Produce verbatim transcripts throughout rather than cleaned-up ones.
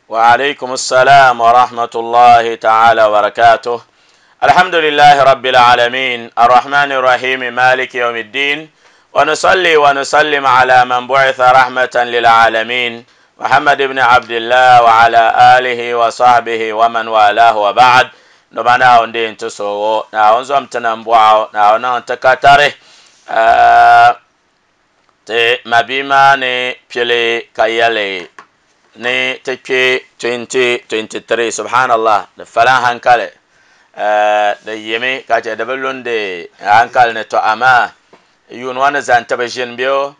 وعليكم السلام ورحمة الله تعالى وبركاته. الحمد لله رب العالمين الرحمن الرحيم مالك يوم الدين، ونصلي ونسلم على من بعث رحمة للعالمين محمد بن عبد الله وعلى آله وصحبه ومن والاه وبعد. نبنا وندين تسو نعوزم تنبوع نعونا تكتره te mabima ni pili kayale ni te twenty twenty-three. Subhanallah, de falan hankale de yemi ka che de bulunde hankal ne to ama yun wana zan tabajin biyo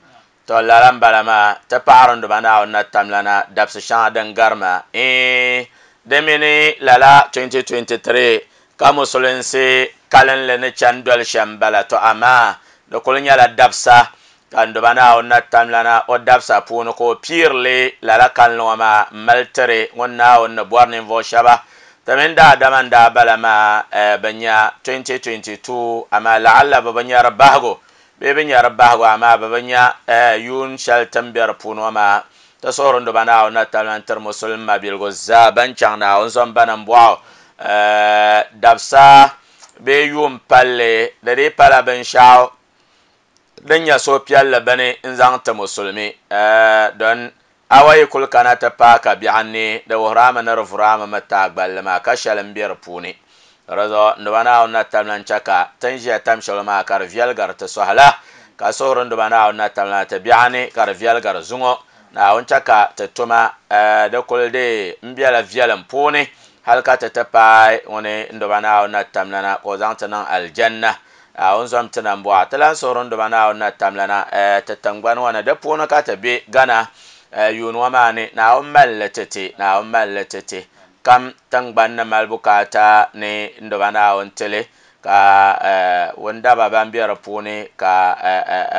to lalam balama te paarun do bana na tamlana dabs shan dan garma eh de mini lala twenty twenty-three ka musulinsi kalen le ne chandol shambala to ama de kulunya la dabsa kan do bana na tamlana o dabsa puno ko pirle lala kalno ma maltere ngonna on bornin vo shaba tamenda damanda balama banya twenty twenty-two ama la'alla babanya rabbago be banya rabbago ama babanya yun shal tamber puno ma tasoron do bana na tamlan ter musulma bil gozza ban changna on zon banan bo dabsa be yum palle de de pala ben shaw danya so pialla bane nzang ta musulmi don awai kul kana ta paka bi anni da wahrama na ruframa mata gballama ka shalan biyar puni razo ndwana na tamlan chaka tanjiya tam shalma kar vialgar ta sohala ka sohron ndwana na tamlan ta bi anni kar vialgar zungo na on chaka ta tuma da kul de mbiala vialan puni halka ta tapai woni ndwana na tamlana ko zang ta nan aljanna a zom tana mbo talan soron do bana na tamlana ta tangban wana da pono ka ta be gana yun wa mani na on mallatete na on mallatete kam tangban na malbukata ne ndo bana on tele ka wanda baban biyar pone ka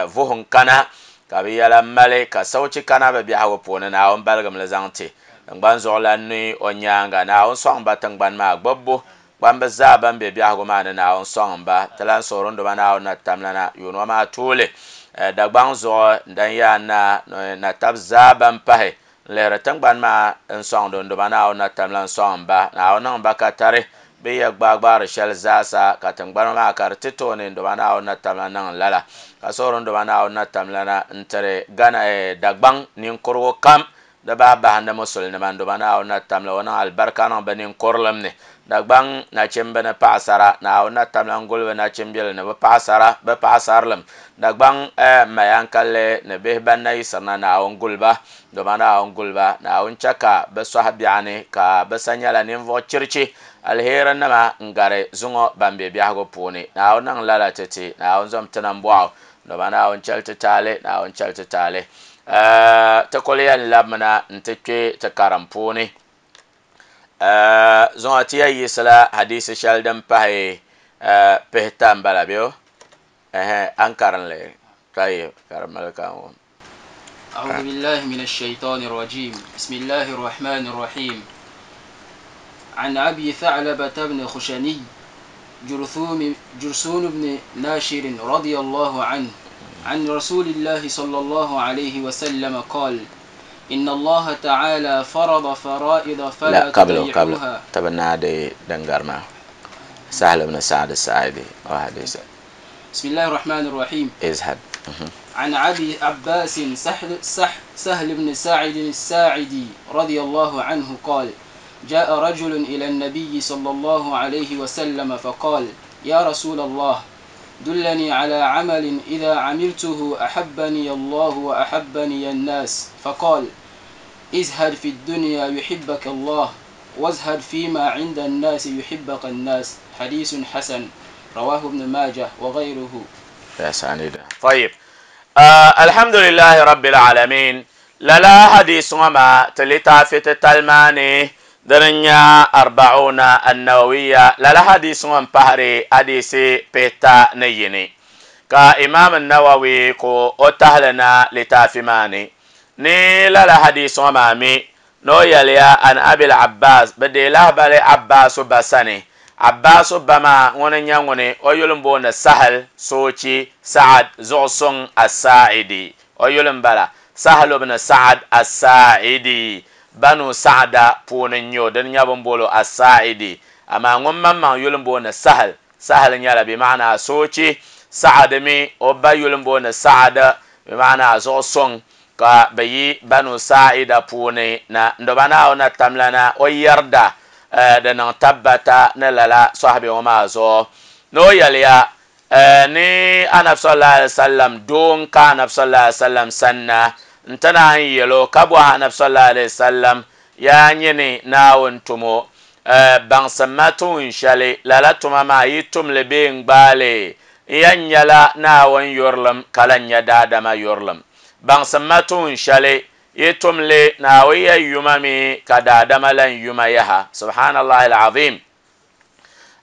vuhun kana ka bi yala male ka sauci kana ba bi hawo pone na on balgam la zangte tangban zola ni onyanga na on so ba tangban ma gbobbo bamba zaban be biago ma na on song ba talan soron do bana na tamlana yono ma tole da gbang zo dan ya na na tab zaban pahe lera tangban ma en song do do bana na tamlan song ba na on ba ka tare be ya gbagbar shal zasa ka tangban ma kar tito ne do bana na tamlan nan lala ka soron do bana na tamlana ntere gana e dagbang nin korwo kam da ba ba handa musulmi man do bana na tamla wana albarka na banin korlam ne dagbang na chembe na paasara na na tamla ngolwe na chembele na paasara ba paasarlam dagbang eh mayankalle ne be banna isana na ngulba do bana ngulba na on chaka be sahabiane ka be sanyala nin vo chirchi alhera nama ngare zungo bambe biago puni na on lala tete na on zom tanambo do bana on chalta tale na on chalta tale ta koliyan labmana ntekwe ta karampuni zonatiya yisla hadisi shaldan pahe pehtan balabio eh ankaran le tayyib karamal kan. أعوذ بالله من الشيطان الرجيم. بسم الله الرحمن الرحيم. عن أبي ثعلبة بن خشني جرثوم جرثوم بن ناشر رضي الله عنه عن رسول الله صلى الله عليه وسلم قال: إن الله تعالى فرض فرائض فلا لا قبله قبله تضيعوها. تبنى دي دنجرما سهل بن سعد الساعدي وحديث. بسم الله الرحمن الرحيم. ازهد. عن أبي عباس سهل, سهل بن سعد الساعدي رضي الله عنه قال: جاء رجل إلى النبي صلى الله عليه وسلم فقال: يا رسول الله، دلني على عمل إذا عملته أحبني الله وأحبني الناس. فقال: ازهد في الدنيا يحبك الله، وازهد فيما عند الناس يحبك الناس. حديث حسن رواه ابن ماجه وغيره. يا سعيد. طيب آه الحمد لله رب العالمين. لا حديث وما تلتا في تلماني درنيا أربعون النووية. لا حديث وما بحري حديث بيتا نيني كا إمام النووي كو أتهلنا لتافماني ني لا حديث وما مي نو يليا أن أبي العباس بدي له بالي عباس بسني عباس بما ونن يوني أيلم سهل سوتي سعد زوسون الساعدي أيلم بلا سهل بن سعد الساعدي Banu Sa'da puuni n-nyɛ o dini nyɛ bini booli As-Sa'idi amaa ŋun maŋmaŋ yuli m-booni Sahal Sahal nyɛla bi maana soochi Sa'ad mi o ba yuli m-booni Sa'ad bi maana zuɣu suŋ ka bɛ yi Banu Sa'ida puuni na ndoba Naawuni na tamlana o yarda di niŋ tabbata ni lala sɔhibi ŋɔ maa zuɣu ni o yɛliya ni Anabi sallallahu alaihi wasallam doo n ka Anabi sallallahu alaihi wasallam sanna n-ti naan yɛlo ka bɔhi Anabi sallallahu alaihi wasallam yaa nyini Naawuni tumo baŋsim ma tuun shɛli lala tuma maa yi tumli bee n gbaali n yɛn nyɛla Naawuni yurilim ka lan nyɛ daadama yurilim baŋsim ma tuun shɛli yi tumli Naawuni yɛn yuma mi ka daadama lan yuma yaha subhanallahi alazim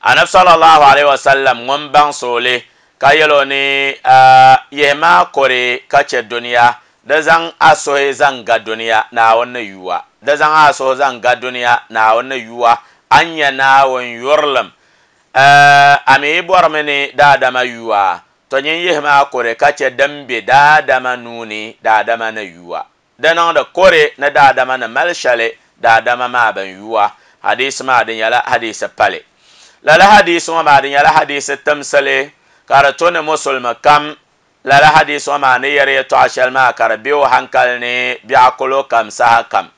Anabi sallallahu alaihi wasallam ŋun baŋ sooli ka yɛlo ni yihi maa kɔre ka chɛ duniya di zaŋ a suhi zaŋ ga duniya Naawuni ni yuwa di zaŋ a suhi zaŋ ga duniya Naawuni ni yuwa a ni nyɛ Naawuni yurilim a mi bɔrimi ni daadama yuwa to nyin yihi maa kɔre ka chɛ din be daadama nuuni daadama ni yuwa di niŋdi kɔre ni daadama ni mali shɛli daadama maa bin yuwa hadisi maa di nyɛla hadisi pali lala hadisi ŋɔ maa di nyɛla hadisi timsili ka di to ni musulimi kam lala hadisi ŋɔ maa ni yɛri yɛltɔɣa shɛli maa ka di be o hankali ni biɛɣu kolo kam saha kam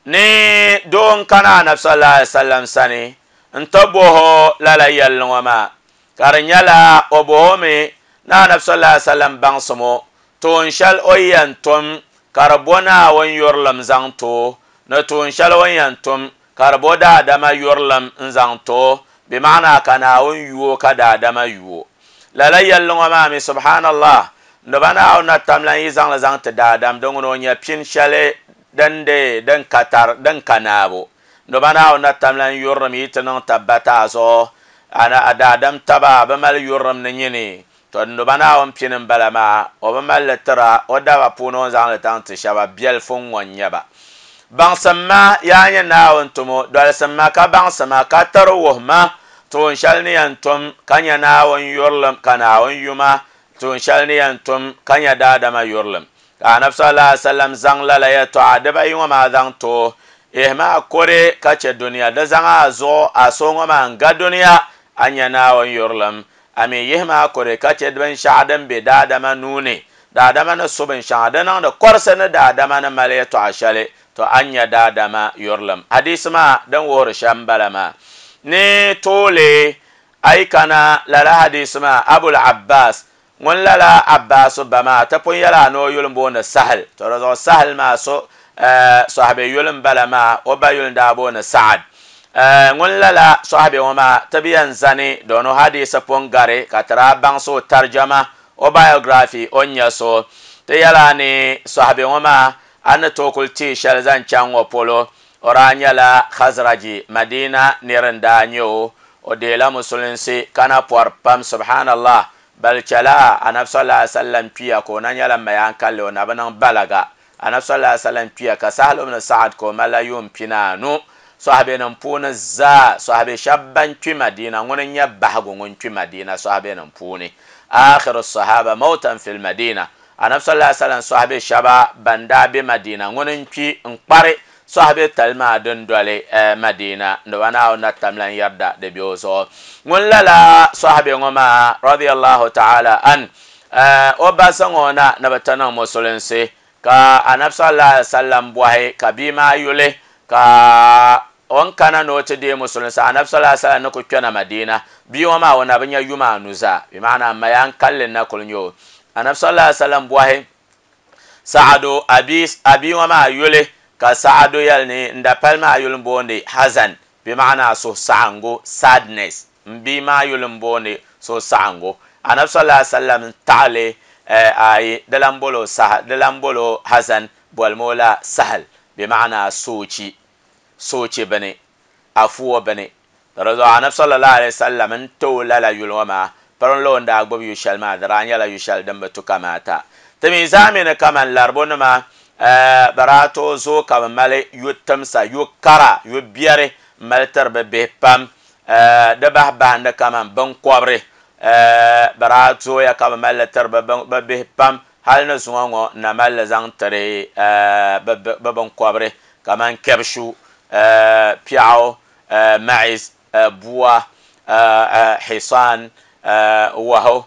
ni doo n kana Anabi sallallahu alaihi wasallam sani n ti boho lala yɛlli ŋɔ maa ka di nyɛla o boho mi ni Anabi sallallahu alaihi wasallam baŋsim o tuun shɛli o yɛn tum ka di bo Naawuni yurilim zaŋ ti o ni tuun shɛli o yɛn tum ka di bo daadama yurilim n zaŋ ti o bi maana ka Naawuni yuo ka daadama yuo lala yɛlli ŋɔ maa mi subhanallah ndoba Naawuni na tamlan yi zaŋli zaŋ ti daadam din ŋuni o nyɛ pini shɛli din de din ka tar din ka naabu ndoba Naawuni na tamlan yurilim yi ti niŋ tabbata a zuɣu ana daadam taba bi mali yurilim ni nyini to ndoba Naawuni pini n bala maa o bi mali li tira o daba puuni o ni zaŋli taŋ ti shɛba biɛlifu ŋɔ n nyɛba baŋsim ma yaa nyɛ Naawuni tumo dolisim ma ka baŋsim ma ka tiri wuhi ma tuun shɛli ni yɛn tum ka nyɛ Naawuni yurilim ka Naawuni yuma tuun shɛli ni yɛn tum ka nyɛ daadama yurilim ka Anabi sallallahu alaihi wasallam zaŋ lala yɛltɔɣa dibayi ŋɔ maa zaŋ ti o yihi maa kɔre ka chɛ duniya di zaŋ a zuɣu a so ŋɔ maa n ga duniya a nyɛ Naawuni yurilim a mi yihi maa kɔre ka chɛ binshɛɣu din be daadama nuuni daadama ni su binshɛŋa di niŋdi kɔrisi ni daadama ni mali yɛltɔɣa shɛli to a nyɛ daadama yurilim hadisi maa din wuhiri shɛm bala maa ni toole ayi kana lala hadisi maa Abul Abbas ŋun lala Abbas ba maa ti pun yɛla ni o yuli m-booni Sahal to di zuɣu Sahal maa so sɔhibi yuli m-bala maa o ba yuli n-daa booni Sa'ad ŋun lala sɔhibi ŋɔ maa ti bi yɛn zani dooni hadisi pun gari ka ti daa baŋsi o tarjama o biography o ni nyɛ so ti yɛla ni sɔhibi ŋɔ maa a ni tooi kuli teei shɛli zaŋ chaŋ ŋɔ polo o daa nyɛla Khazraji Madina nira n-daa nyɛ o o deela musulinsi ka na pɔri pam subhanallah bal chɛla Anabi sallallahu alaihi wasallam kpiya ka o na nyɛla mayaan kalli o na bi niŋ balaga Anabi sallallahu alaihi wasallam kpiya ka Sahal ibn Sa'ad ka o malila yuun pinaanu sɔhibi nim puuni zaa sɔhibi shɛba ban kpi Madina ŋuni n-nyɛ bahigu ŋun kpi Madina sɔhibi nim puuni akhiru sahaba mautan fil Madina Anabi sallallahu alaihi wasallam sɔhibi shɛba ban daa be Madina ŋuni n kpi n kpari sɔhibi tali maa din doli Madina ndoba Naawuni na tamlan yarda di be o zuɣu ŋun lala sɔhibi ŋɔ maa radiyallahu ta'ala an o ba zaŋ o na ni bi ti niŋ musulinsi ka Anabi sallallahu alaihi wasallam bɔhi ka bia maa yuli ka o ni kana ni o ti deei musulinsi Anabi sallallahu alaihi wasallam ni ku kpɛna Madina bia ŋɔ maa o na bi nyɛ yuma anu zaa bi maana mayaan kalli na kuli nyɛ o Anabi sallallahu alaihi wasallam bɔhi Sa'adu abi abi ŋɔ maa yuli ka Sa'adu yɛli ni n dapali maa yuli m-booni Hazan bi maana suhusaɣingu sadness n bia maa yuli m-booni suhusaɣingu Anabi sallallahu alaihi wasallam taɣali ayi di lan bolo Sahal di lan bolo Hazan bolimi o la Sahal bi maana soochi soochi bini afuwa bini di zuɣu Anabi sallallahu alaihi wasallam n ti o lala yuli ŋɔ maa pirinla o ni daa gbubi yu shɛli maa di daa nyɛla yu shɛli din bi tu kamaata ti mi zaa mi ni kaman laribu nima bɛ daa tooi zooi ka bɛ mali yu timsa yu kara yu biɛri n mali tiri bɛ bihi pam di bahi bahindi kaman binkɔbiri bɛ daa zooya ka bɛ mali li tiri bɛ bihi pam hali ni zuŋɔ ŋɔ n na mali li zaŋ tiri bɛ binkɔbiri kaman kebshu piɛɣu ma'iz bua hisan wahu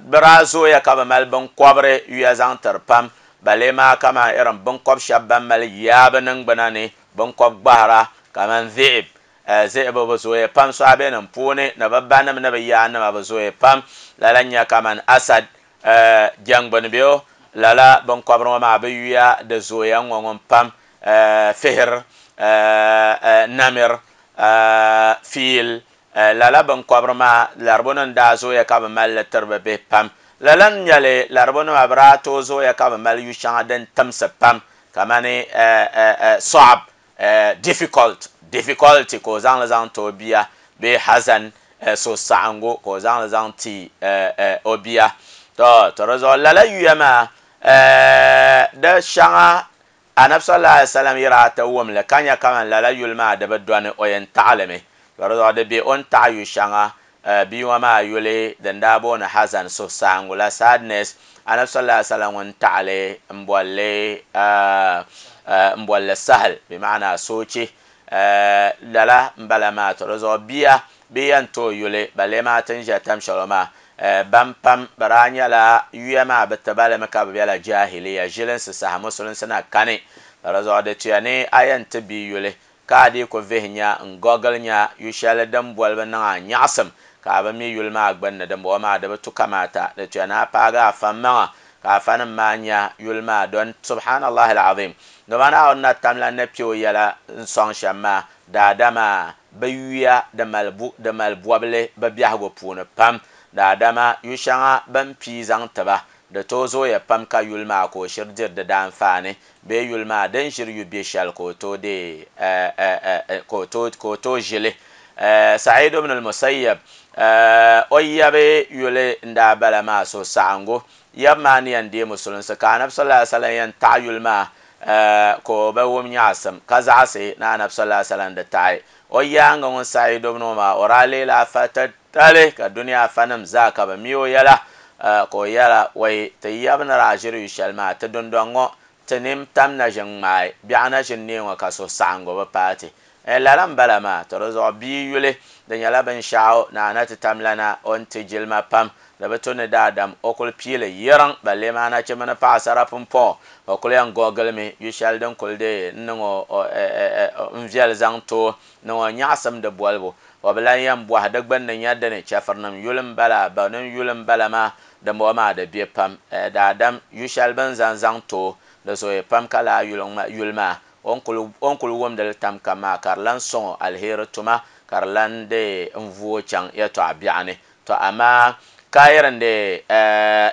bɛ daa zooya ka bɛ mali binkɔbiri yuya zaŋ tiri pam balee maa kaman irin binkɔb shɛba ban mali yaabi niŋgbuna ni binkɔb gbahira kaman dhi'ib zihibu bi zooya pam sɔhabinim puuni ni bɛ banima ni bɛ yaanima bi zooya pam lala n-nyɛ kaman asad jɛngbuni bɛ o lala binkɔbiri ŋɔ maa bɛ yuya di zooya ŋɔ ŋun pam fihir namir fiil lala binkɔbiri maa laribu nim daa zooya ka bɛ mali li tiri bɛ bihi pam lala n-nyɛli laribu nima bɛ daa tooi zooya ka bɛ mali yu shɛŋa din timsi pam kamani sɔɣab difficult difficulty ka o zaŋli zaŋ ti o bia bee hazan suhusaɣingu ka o zaŋli zaŋ ti o bia to to di zuɣu lala yuya maa di shɛŋa anabi sallallahu alaihi wasallam yi daa ti wumli ka nya kaman lala yuli maa di bi dɔni o yɛn taɣalimi to di zuɣu di be o ni taɣi yu shɛŋa bia ŋɔ maa yuli din daa booni hazan suhusaɣingu la sadness anabi sallallahu alaihi wasallam ŋun taɣali n bolli n bolli sahal bi maana soochi lala n bala maa to di zuɣu bia bɛ yɛn tooi yuli balee maa ti ni ʒɛ tam shɛli maa ban pam bɛ daa nyɛla yuya maa bɛ ti balimi ka bɛ bela jahiliya ʒilinsi saha musulinsi na kani di zuɣu di tuya ni a yɛn ti bia yuli ka a dii ku vihi nya n gogili nya yu shɛli din bolibu niŋ a nyaɣasim ka a bi mi yuli maa gbunni dimbɔŋɔ maa di bi tu kamaata di tuya ni a paagi afa maŋa ka afanim maa nya yuli maa don subhanallahi alazim dama Naawuni na tamla ni kpe o yɛla n sɔŋ shɛm maa daadama bɛ yuya di mali di mali bɔbili bɛ biɛhigu puuni pam daadama yu shɛŋa bɛn pii zaŋ tiba di tooi zooya pam ka yuli maa ka o shiri diri di daanfaani bee yuli maa din ʒiri yu be shɛli ka o tooi dee ka o tooi ʒili Sa'id ibn al-Musayyab o yabi yuli n daa bala maa suhusaɣingu yab maa ni yɛn deei musulinsi ka anabi sallallahu alaihi wasallam yɛn taɣi yuli maa ka o bi wum nyaɣasim ka zaɣasi ni anabi sallallahu alaihi wasallam di taɣi o yaanga ŋun Sa'id ibn maa o daa leela afa titali ka duniya afanim zaa ka bi mi o yɛla ka o yɛla wai ti yab ni daa ʒiri yu shɛli maa ti dundɔŋ ŋɔ ti nim tam na ʒin ŋmaai biɛɣu na ʒin nee ŋɔ ka suhusaɣingu bi paati lala n bala maa to di zuɣu bia yuli di nyɛla binshaɣu ni ana ti tamlana o ni ti jilima pam di bi tu ni daadam o kuli piili yiriŋ balee maa nachimba ni paɣasara pumpɔŋɔ o kuli yɛn gogilimi yu shɛli din kuli dee n niŋ o n viɛli zaŋ too niŋ o nyaɣasim di bolibu o bi lan yɛn bɔhi di gbunni nyɛ dini chɛfirinim yuli n bala banim yuli n bala maa dimbɔŋɔ maa di be pam daadam yu shɛli bin zaŋ zaŋ too di zooya pam ka laa yuli maa o ni kuli wumdili tam kam maa ka di lan sɔŋ o aliheri tuma ka di lan dee n vuo chaŋ yɛltɔɣa biɛɣu ni to amaa ka yirin de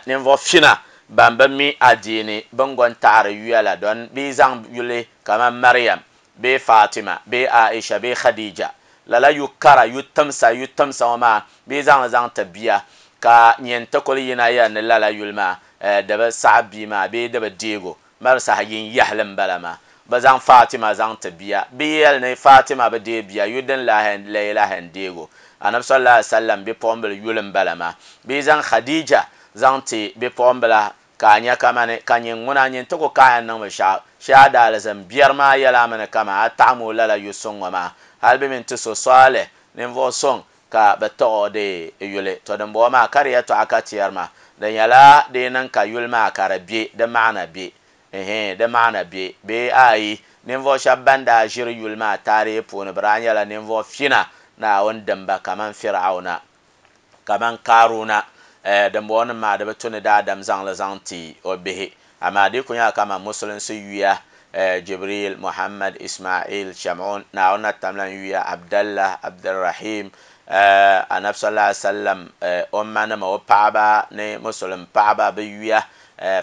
ninvuɣu fina ban bi mi adiini bin gon taɣari yuya la don bi zaŋ yuli kaman Maryam bee Fatima bee Aisha bee Khadija lala yu kara yu timsa yu timsa ŋɔ maa bi zaŋ zaŋ ti bia ka nyɛn ti kuli yina yɛri ni lala yuli maa di bi saɣa bia maa bee di bi deego mali saha yin yahali n bala maa bi zaŋ Fatima zaŋ ti bia bi yɛli ni Fatima bi deei bia yu din lahi lahi lahi n deego anabi sallallahu alaihi wasallam bipuɣimbila yuli n bala maa bi zaŋ Khadija zaŋ ti bipuɣimbila ka a nya kamani ka nyin ŋuna nyin ti ku kaaya niŋ binshaɣu shee a daalizin biɛri maa yɛla mi ni kama a taɣam o lala yu suŋ ŋɔ maa hali bi mini ti so Salih ninvuɣu suŋ ka bi taɣi o dee yuli to dimbɔŋɔ maa ka di yɛltɔɣa ka ti yɛri maa di nyɛla di niŋ ka yuli maa ka di be di maana be ehe di maana be bee ayi ninvuɣu shɛba ban daa ʒiri yuli maa taarihi puuni bi daa nyɛla ninvuɣu fina Naawuni dimba kaman Fir'auna kaman Karuna dimbɔŋɔ nim maa di bi tu ni daadam zaŋli zaŋ ti o bihi amaa di ku nyɛla kaman musulinsi yuya Jibril Muhammad Ismail Shamun Naawuni na tamla yuya Abdallah Abdurrahim anabi sallallahu alaihi wasallam o ma nima o paɣaba ni musulim paɣaba bi yuya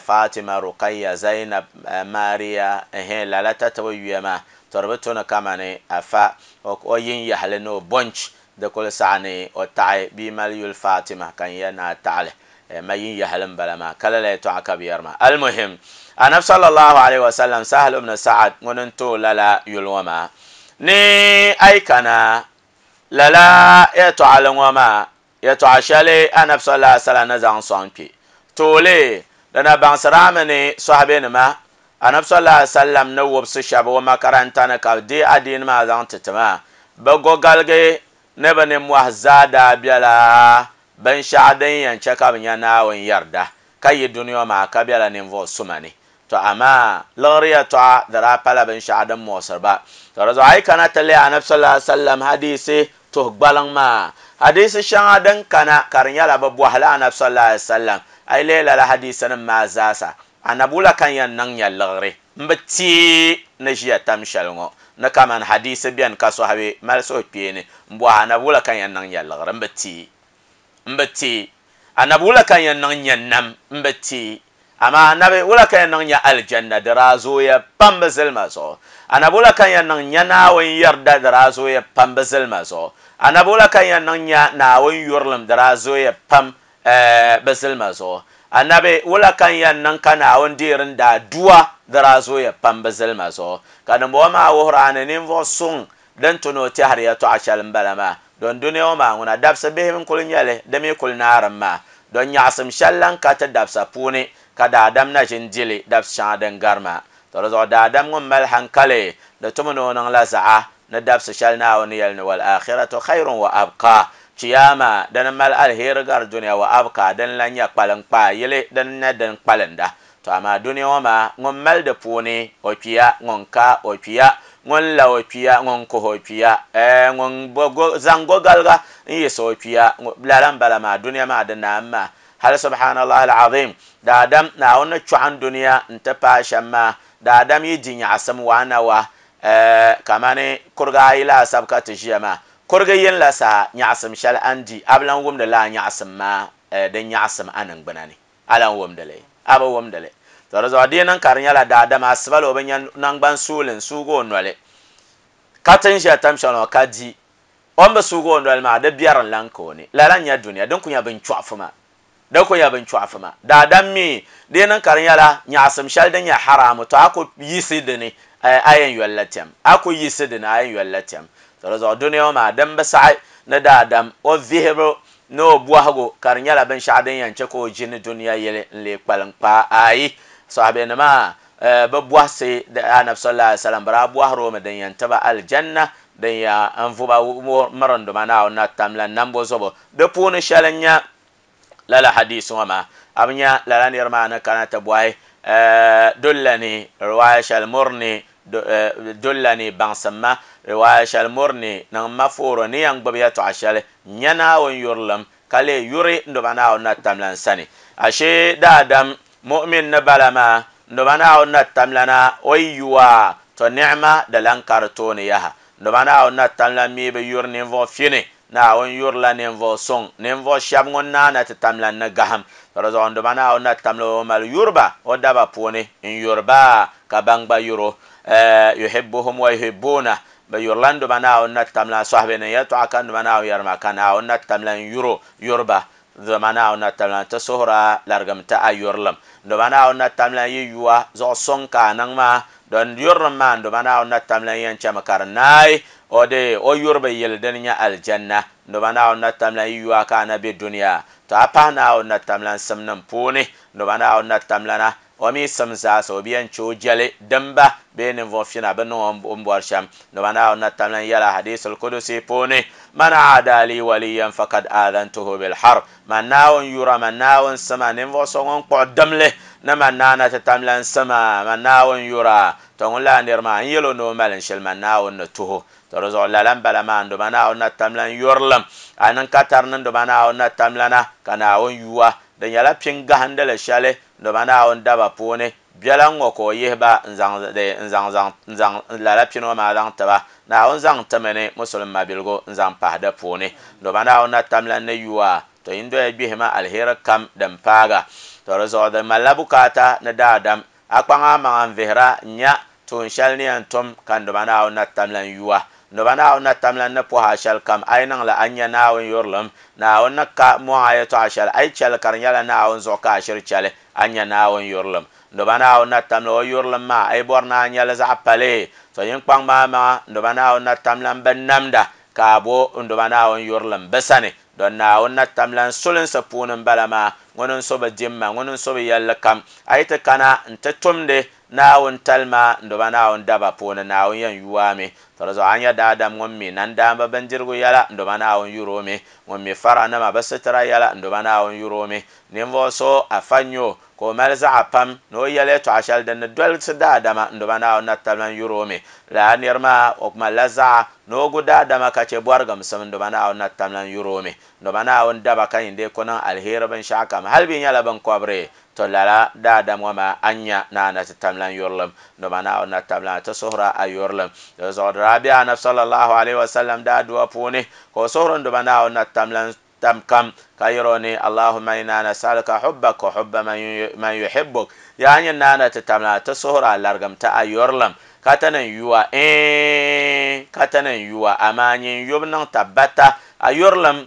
Fatima Ruqayya Zainab Maria ehe lala tatibi yuya maa to di bi tu ni kamani afa o yin yahali ni o bonch di kuli saɣa ni o taɣi bia mali yuli Fatima ka n yɛli ni a taɣali ma yin yahali n bala maa ka lala yɛltɔɣa ka bi yɛri maa almuhim anabi sallallahu alaihi wasallam Sahal ibn Sa'ad ŋuni n tooi lala yuli ŋɔ maa ni ayi kana lala yɛltɔɣali ŋɔ maa yɛltɔɣa shɛli anabi sallallahu alaihi wasallam ni zaŋ sɔŋ kpe tooli dina baŋsirami ni sɔhibe nima Annabi sallallahu alaihi wasallam ni wubsi shɛba o makaranta ni ka bi deei adiini maa zaŋ ti ti maa bi gogaligi ni bi ninmɔhi zaa daa bela binshɛɣu din yɛn chɛ ka bi nya Naawuni yarda ka yi duniya maa ka bela ninvuɣu suma ni to amaa liɣiri yɛltɔɣa di daa pala binshɛɣu din muɣisiri ba to di zuɣu a yi kana ti lihi Annabi sallallahu alaihi wasallam hadisi tuhi gbaliŋ maa hadisi shɛŋa din kana ka di nyɛla bi bɔhila Annabi sallallahu alaihi wasallam a yi lihi lala hadisi nim maa zaasa annabi wula ka yɛn niŋ nya liɣiri n bi teei ni ʒiya tam shɛli ŋɔ ni kaman hadisi bɛni ka sahabi mali suhukpeeni n bɔhi annabi wula ka yɛn niŋ nya liɣiri n bi teei n bi teei annabi wula ka yɛn niŋ nya nam n bi teei amaa annabi wula ka yɛn niŋ nya aljanna di daa zooya pam bi zilima zuɣu annabi wula ka yɛn niŋ nya Naawuni yarda di daa zooya pam bi zilima zuɣu annabi wula ka yɛn niŋ nya Naawuni yurilim di daa zooya pam bi zilima zuɣu annabi wula ka yɛn niŋ ka Naawuni deeri daa dua di daa zooya pam bi zilima zuɣu ka dimbɔŋɔ maa wuhiri ni ninvuɣu suŋ din tu ni o tɛhiri yɛltɔɣa shɛli n bala maa don duniya ŋɔ maa ŋuna dabisa bihi n kuli nyɛli di mi kuli naarim maa don nyaɣasim shɛli lan ka ti dabisa puuni ka daadam na ʒin dili dabisa shɛŋa din gari maa to di zuɣu daadam ŋun mali hankali di tumi ni o niŋ la zaɣa ni dabisa shɛli Naawuni yɛli ni wal akhiratu khayrun wa abqa chiyama din mali alheri gari duniya wa abqa din lan nyɛ kpaliŋ kpaa yili din nyɛ din kpalinda to amaa duniya ŋɔ maa ŋun mali di puuni o kpiya ŋun ka o kpiya ŋun la o kpiya ŋun kuhi o kpiya ŋun zaŋ gogaliga n yiɣisi o kpiya lala n bala maa duniya maa di naam maa hali subhanallah alazim daadam Naawuni ni chɔɣin duniya n ti paai shɛm maa daadam yi di nyaɣasim waana wa kamani kuriga ayi laasabu ka ti ʒiya maa kurigi yin la saha nyaɣasim shɛli a ni di a bi lan wumdi laa nyaɣasim maa din nyaɣasim a niŋgbuna ni a lan wumdili a bi wumdili to di zuɣu di niŋ ka di nyɛla daadam asiba la o bi nya nangban suuli n suugi o noli ka ti n ʒiya tam shɛli ŋɔ ka di o ni bi suugi o noli maa di biɛri n lan ka o ni lala n nyɛ duniya din ku nyɛ binchɔɣufu maa din ku nyɛ binchɔɣufu maa daadam mi di niŋ ka di nyɛla nyaɣasim shɛli din nyɛ haramu to a ku yiɣisi dini a yɛn yoli la tɛm a ku yiɣisi dini a yɛn yoli la tɛm to di zuɣu duniya ŋɔ maa din bi saɣi ni daadam o vihibu ni o bɔhigu ka di nyɛla binshɛɣu din yɛn chɛ ka o ʒini duniya yili n lee kpalim kpaa ayi sahabenima bi bɔhisi Annabi sallallahu alaihi wasallam bi daa bɔhiri o mi din yɛn tiba aljanna din ya n vuba mirinduma Naawuni na tamla nambo zuɣu di puuni shɛli n nyɛ lala hadisi ŋɔ maa a bi nya lala niri maa ni kana ti bɔhi dullani riwaaya shɛli murni dullani baŋsim ma riwaaya shɛli murni niŋ ma fooro ni yɛn gbubi yɛltɔɣa shɛli n nya Naawuni yurilim ka lee yuri n duba Naawuni na tamla n sani ashee daadam mu'min ni bala maa n duba Naawuni na tamlana o yi yuwa to ni'ma di lan ka di tooni yaha n duba Naawuni na tamla mi bi yuri ninvuɣu fini Naawuni yurila ninvuɣu suŋ ninvuɣu shɛba ŋun naana ti tamla ni gaham to di zuɣu n duba Naawuni na tamla o mali yuriba o daba puuni n yuriba ka ban gba yuro yuhibbuhum wa yuhibbuna bi yurila n duba Naawuni na tamla sahabi ni yɛltɔɣa ka n duba Naawuni yɛri maa ka Naawuni na tamla n yuro yuriba duba Naawuni na tamla ti suhura larigim ti a yurilim duba Naawuni na tamla yi yuwa zuɣu suŋ ka a niŋ maa don yurilim maa duba Naawuni na tamla yɛn chɛmi ka di naai o de o yuribi yili din nyɛ aljanna duba Naawuni na tamla yi yuwa ka a na be duniya to a pahi Naawuni na tamla n simnim puuni duba Naawuni na tamla na o mi sim zaasa o bi yɛn chɛ o jɛli dimba bee ninvuɣu fina bi niŋ o ni bɔri shɛm duba Naawuni na tamla n yɛla hadisul kudusi puuni man aada li waliyan fakad aadantuhu bilharb man Naawuni yura man Naawuni sima ninvuɣu so ŋun kpuɣi dimli ni man naana ti tamla n sima man Naawuni yura to ŋun laa niri maa n yɛl o ni o mali n shɛli man Naawuni ni tuho to di zuɣu lala n bala maa n duba Naawuni na tamla n yurilim a niŋ ka tari ni duba Naawuni na tamla na ka Naawuni yuwa di nyɛla pin gahindili shɛli duba Naawuni daba puuni biɛla ŋɔ ka o yihi ba n zaŋ n zaŋ zaŋ n zaŋ lala pini ŋɔ maa zaŋ tiba Naawuni zaŋ timi ni musulin mabiligu n zaŋ pahi di puuni duba Naawuni na tamla ni yuwa to yin doya gbihima alheri kam din paaga to di zuɣu di malila bukaata ni daadam a kpaŋa maŋa n vihira nya tuun shɛli ni yɛn tum ka n duba Naawuni na tamla n yuwa duba Naawuni na tamla ni pɔha shɛli kam a yi niŋla a nya Naawuni yurilim Naawuni ni ka mɔŋ a yɛltɔɣa shɛli a yi chɛli ka di nyɛla Naawuni zuɣu ka a shiri chɛli a nya Naawuni yurilim duba Naawuni na tamla o yurilim maa a yi bɔri ni a nyɛli zaɣa pali to yin kpaŋ maa maŋa duba Naawuni na tamla n bi namda ka a bo n duba Naawuni yurilim bi sani Don naawuni na tamlan sulinsi puuni m-bala maa ŋuni n-so bi dimma ŋuni n-so bi yɛlli kam a yi ti kana n-ti tumdi naawuni talima n-duba naawuni daba puuni naawuni yɛn yuwaami to di zuɣu a nya daadam ŋun mi nandaamba bindirigu yɛla n-duba naawuni yuri o mi ŋun mi faranima bi sitira yɛla n-duba naawuni yuri o mi ninvuɣu so afa n-nyɛ o ka o mali zaɣa pam ni o yɛli yɛltɔɣa shɛli din ni dolisi daadama n-duba naawuni na tamlan yuri o mi lala niri maa o malila zaɣa ni o gu daadama ka che bɔrigimsim n-duba naawuni na tamlan yuri o mi n-duba naawuni daba ka yin dee ku niŋ aliheri binshɛɣu kam hali bi nyɛla binkɔbiri to lala daadam ŋɔ maa a nya ni a na ti tamlan yurilim n-duba naawuni na tamlan ti suhura a yurilim di zuɣu di daa be anabi sallallahu alaihi wasallam daa dua puuni ka o suhuri n-duba naawuni na tamlan tam kam ka yɛro ni allahumma inna nas'aluka hubbaka wa hubba man yuhibbuk yaa nyin naana ti tamlan ti suhura a larigim ti a yurilim ka ti niŋ yuwa ee ka ti niŋ yuwa amaa nyin yubu niŋ tabbata a yurilim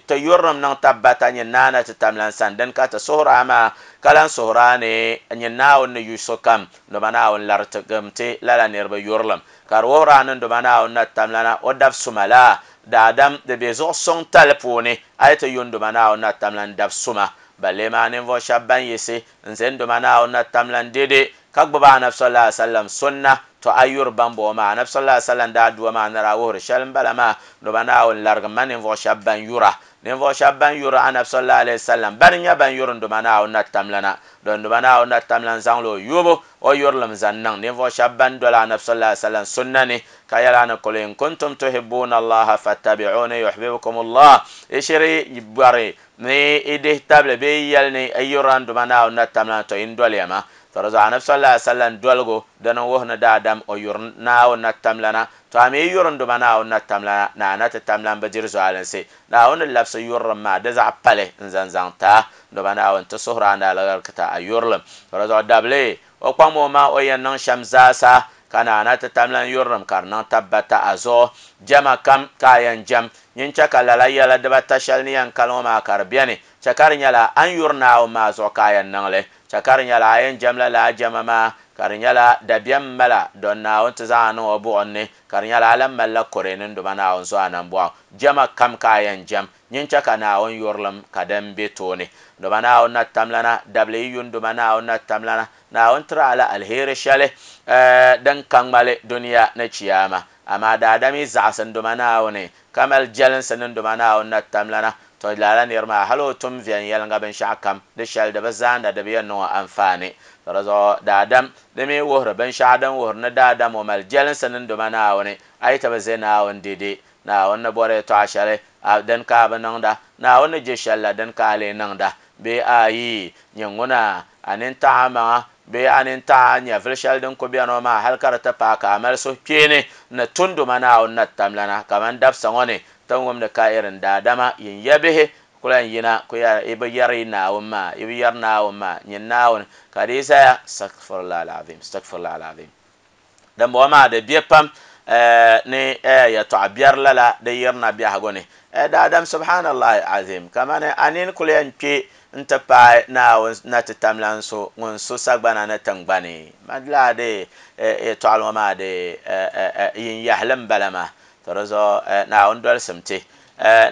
ti yurilim niŋ tabbata nyin naana ti tamlan sani din ka ti suhura maa ka lan suhura ni nyin naawuni ni yu sokam nduba naawuni larigim ti lala niriba yurilim ka di wuhira ni nduba naawuni na tamlana o dab suma la daadam di be zuɣu suŋ tali puuni a yi ti yu nduba naawuni na tamlan dab suma balle maa ninvuɣu shɛba ban yiɣisi n-ʒe nduba naawuni na tamlan dede ka gbubi anabi sallallahu alaihi wasallam sunna to a yuri ban bɔŋɔ maa anabi sallallahu alaihi wasallam daa dua maa ni daa wuhiri shɛli m-bala maa nduba naawuni larigim ma ninvuɣu shɛba ban yura ninvuɣu shɛba ban yuri anabi sallallahu alaihi wasallam bani nyɛ ban yuri nduba naawuni na tamlana don nduba naawuni na tamlan zaŋla o yubu o yurilim zaŋ niŋ ninvuɣu shɛba ban doli anabi sallallahu alaihi wasallam sunna ni ka yɛla ni qul in kuntum tuhibbuna allaha fattabi'uni yuhbibkum allah ishiri bɔri ni i dihi tabili bee yɛli ni i yurila nduba naawuni na tamlana to yin doliya ma to di zuɣu anabi sallallahu alaihi wasallam doligu dini wuhi ni daadam o yuri naawuni na tamlana to a mi yuri nduba naawuni na tamlana na ana ti tamlan bi diri zualinsi naawuni labisi yurilim maa di zaɣ pali n-zaŋ zaŋ taa nduba naawuni ti suhuri a ni alibarika a yurilim to di zuɣu dabili o kpaŋ o maa o yɛn niŋ shɛm zaasa ka na ana ti tamlan yurilim ka di niŋ tabbata a zuɣu jɛma kam ka a yɛn jɛm nyin chɛ ka lala yɛla dibata shɛli ni yɛn kali ŋɔ maa ka di beni chɛ ka di nyɛla a ni yuri naawuni maa zuɣu ka a yɛn niŋli chɛ ka di nyɛla a yɛn jɛmla lala jɛma maa ka di nyɛla dabiɛm mala don naawuni ti zaŋ a niŋ o buɣim ni ka di nyɛla a lan malila kore ni nduba naawuni zuɣu a nambɔɣu jɛma kam ka a yɛn jɛm nyin chɛ ka naawuni yurilim ka din be tooni nduba naawuni na tamlana dabili yi yu nduba naawuni na tamlana naawuni tiri a la aliheri shɛli din ka ŋmali duniya ni chiyaama amaa daadam yi zaɣisi nduba naawuni ka mali jɛlinsi ni nduba naawuni na tamlana to lala niri maa hali o tum viɛnyɛliŋga binshɛɣu kam di shɛli di bi zaanda di bi yɛn niŋ o anfaani to di zuɣu daadam di mi wuhiri binshɛɣu din wuhiri ni daadam o mali jɛlinsi ni nduba naawuni a yi ti bi ʒe naawuni dede naawuni ni bɔri yɛltɔɣa shɛli din ka a bi niŋda naawuni ni je shɛli la din ka a lee niŋda bee ayi nyin ŋuna a nintaɣa a maŋa bee a nintaɣa nyɛvili shɛli din ku beni o maa hali ka di ti paai ka a mali suhukpeeni ni tunduma naawuni na tamlana kamani dabisa ŋɔ ni tin wumdi ka irin daadama yin ya bihi ku lan yina ku i bi yɛri naawuni maa i bi yɛri naawuni maa nyin naawuni ka di zaya astaghfirullah alazim astaghfirullah alazim din bɔŋɔ maa di be pam ni yɛltɔɣa biɛri lala di yirina biɛhigu ni daadam subhanallahi azim kamani a nini kuli yɛn kpe n-ti paai naawuni na ti tamlan so ŋun so sagbana ni tiŋgbani laa di yɛltɔɣali ŋɔ maa di yin yahili m-bala maa to di zuɣu naawuni dolisim ti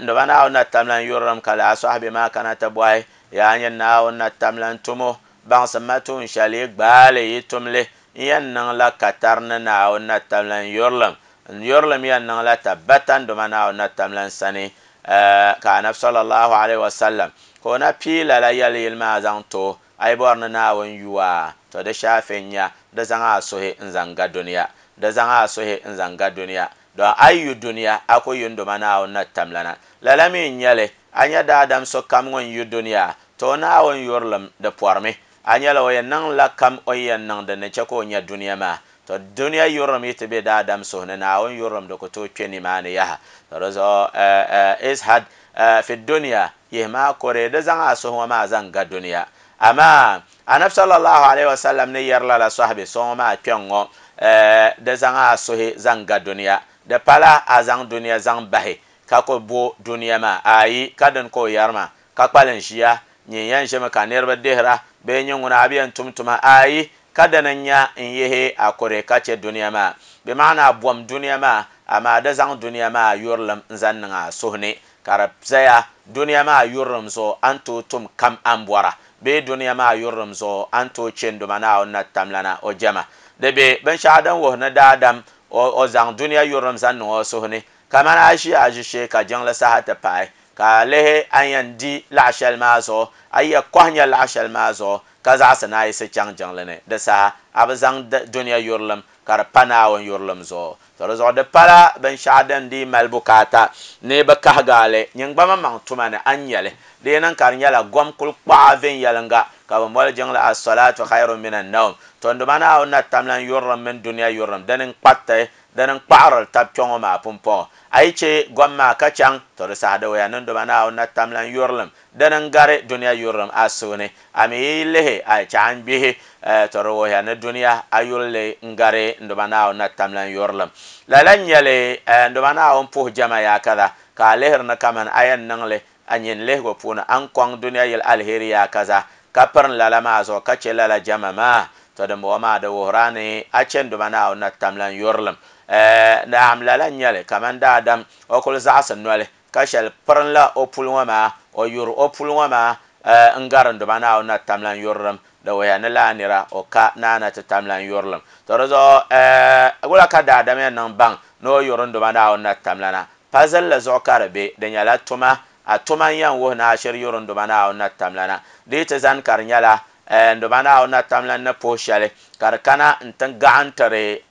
nduba naawuni na tamlan yurilim ka laa sɔhibi maa kana ti bɔhi yaa nyin naawuni na tamlan tumo baŋsim ma tuun shɛli yi gbaali yi tumli n yɛn niŋ la katari ni naawuni na tamlan yurilim n yurilim yɛn niŋ la tabbata nduba naawuni na tamlan sani ka anabi sallallahu alaihi wasallam ka o na pii lala yɛli yili maa zaŋ to a yi bɔri ni naawuni yuwa to di shaafi n-nya di zaŋ a suhi n-zaŋ ga duniya di zaŋ a suhi n-zaŋ ga duniya don a yi yu duniya a ku yu nduma naawuni na tamlana lala mi n-nyɛli a nya daadam sokam ŋun yu duniya to o naawuni yurilim di pɔrimi a nyɛla o yɛn niŋ la kam o yɛn niŋ din ni chɛ ka o nya duniya maa to duniya yurilim yi ti be daadam suhu ni naawuni yurilim di ku tooi kpe nimaani yaha to di zuɣu ishad fi duniya yihi maa kore di zaŋ a suhu ŋɔ maa zaŋ ga duniya amaa anabi sallallahu alaihi wasallam ni yɛri lala sɔhibi so ŋɔ maa kpɛŋ ŋɔ di zaŋ a suhi zaŋ ga duniya di pala a zaŋ duniya zaŋ bahi ka ku bo duniya maa ayi ka din ka o yɛri maa ka kpalim ʒiya nyin yɛn ʒimi ka niriba dihira bee nyin ŋuna a bi yɛn tum tuma ayi ka dini n-nya n-yihi a kore ka che duniya maa bɛ maana a bom duniya maa amaa di zaŋ duniya maa yurilim n-zaŋ niŋ a suhu ni ka di zaya duniya maa yurilim zuɣu a ni tooi tum kam a ni bɔra bee duniya maa yurilim zuɣu a ni tooi che n-duma Naawuni na tamlana o jɛma di be binshɛɣu din wuhi ni daadam o zaŋ duniya yurilim zaŋ niŋ o suhu ni kamani a ʒi a ʒishee ka jiŋli saha ti paai ka lihi a yɛn di laɣa shɛli maa zuɣu a yɛ kɔhi nyɛ laɣa shɛli maa zuɣu ka zaɣasi ni a yiɣisi chaŋ jiŋli ni di saha a bi zaŋ duniya yurilim ka di pa Naawuni yurilim zuɣu to di zuɣu di pala binshɛɣu din dii mali bukaata ni bi kahigaali nyingba maŋ tuma ni a ni nyɛli di yi niŋ ka di nyɛla gom kuli kpaɣa viɛnyɛlinga ka bi moli jiŋli as-salatu khayrun min an-nawm to n-duma Naawuni na tamlan yurilim mini duniya yurilim dini n-kpariti dini n-kpaɣirili tabi kpɛŋɔ maa pumpɔŋɔ a yi che gom maa ka chaŋ to di saha di wuya ni n-duma Naawuni na tamlan yurilim dini n-gari duniya yurilim a suhu ni a mi yi lihi a chɛ a ni gbihi to di wuhiya ni duniya a yurili n-gari n-duma Naawuni na tamlan yurilim lala n-nyɛli n-duma Naawuni puhi jɛma yaa kaza ka a lihiri ni kamani a yɛn niŋli a nyin lihigu puuni a ni kɔŋ duniya yili aliheri yaa kaza ka pirin lala maa zuɣu ka che lala jɛma maa to dimbɔŋɔ maa di wuhira ni a che n-duma Naawuni na tamlan yurilim naam lala n-nyɛli kamani daadam o kuli zaɣasi noli ka shɛli pirin la o puli ŋɔ maa o yuri o puli ŋɔ maa n-gari n-duma Naawuni na tamlan yurilim di wuhiya ni laa nira o ka naana ti tamlan yurilim to di zuɣu wula ka daadam yɛn niŋ baŋ ni o yuri n-duma Naawuni na tamlana pa zilli zuɣu ka di be di nyɛla tuma a tuma n-yɛn wuhi ni a shiri yuri n-duma Naawuni na tamlana di yi ti zani ka di nyɛla n-duma Naawuni na tamlan ni puhi shɛli ka di kana n-ti gaɣintiri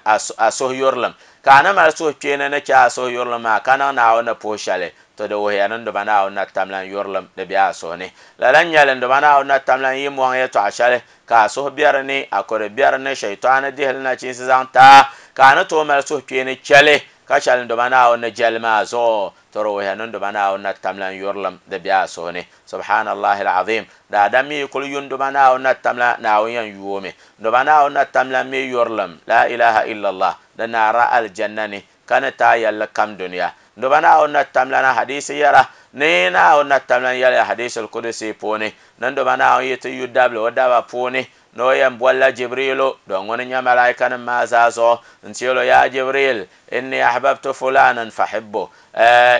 a suhu yurilim ka a ni mali suhukpeeni ni che a suhu yurilim maa ka niŋ Naawuni ni puhi shɛli to di wuhiya ni n-duma Naawuni na tamlan yurilim di be a suhu ni lala n-nyɛli n-duma Naawuni na tamlan yi mɔŋ yɛltɔɣa shɛli ka a suhu be di ni a ko di be di ni shɛitaani dihili nachiinsi zaŋ taa ka a ni tooi mali suhukpeeni chɛli ka shɛli n-duma Naawuni ni jɛli maa zuɣu to di wuhiya ni n-duma Naawuni na tamlan yurilim di be a suhu ni subhanallahi al-azim daadam mi kuli yu n-duma Naawuni na tamla Naawuni yɛn yuomi n-duma Naawuni na tamlan mi yurilim la ilaha illallah di naara aljanna ni ka ni taa yɛlli kam duniya n-duma Naawuni na tamlana hadisi yɛra ni Naawuni na tamlan yɛliya hadisul kudusi puuni ni n-duma Naawuni yi ti yu dabili o daba puuni ni o yɛn bolila Jibrilu don ŋuni nyɛ malaikanim maa zaa zuɣu n-ti yɛli o yaa Jibril inni ahbabtu fulanan fahibbu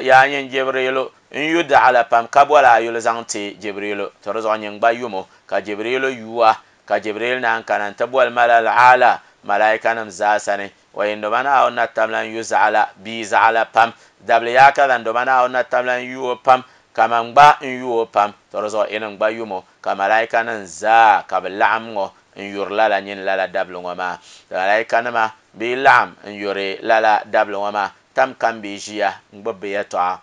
yaa nyin Jibrilu n yu daɣala pam ka boli a yuli zaŋ ti Jibrilu to di zuɣu nyin gba yumo ka Jibrilu yuwa ka Jibril naan kana n-ti boli malal aala malaikanim zaa sani wa n-duma Naawuni na tamlan yu zaɣala bia zaɣala pam dabili yaa kaza n-duma Naawuni na tamlan yu o pam kaman gba n yu o pam to di zuɣu inin gba yumo ka malaikanima zaa ka bi laɣim ŋɔ n yuri lala nyin lala dabili ŋɔ maa malaikanima bi laɣim n yuri lala dabili ŋɔ maa tam kam bi ʒiya n gbubi bi yɛltɔɣa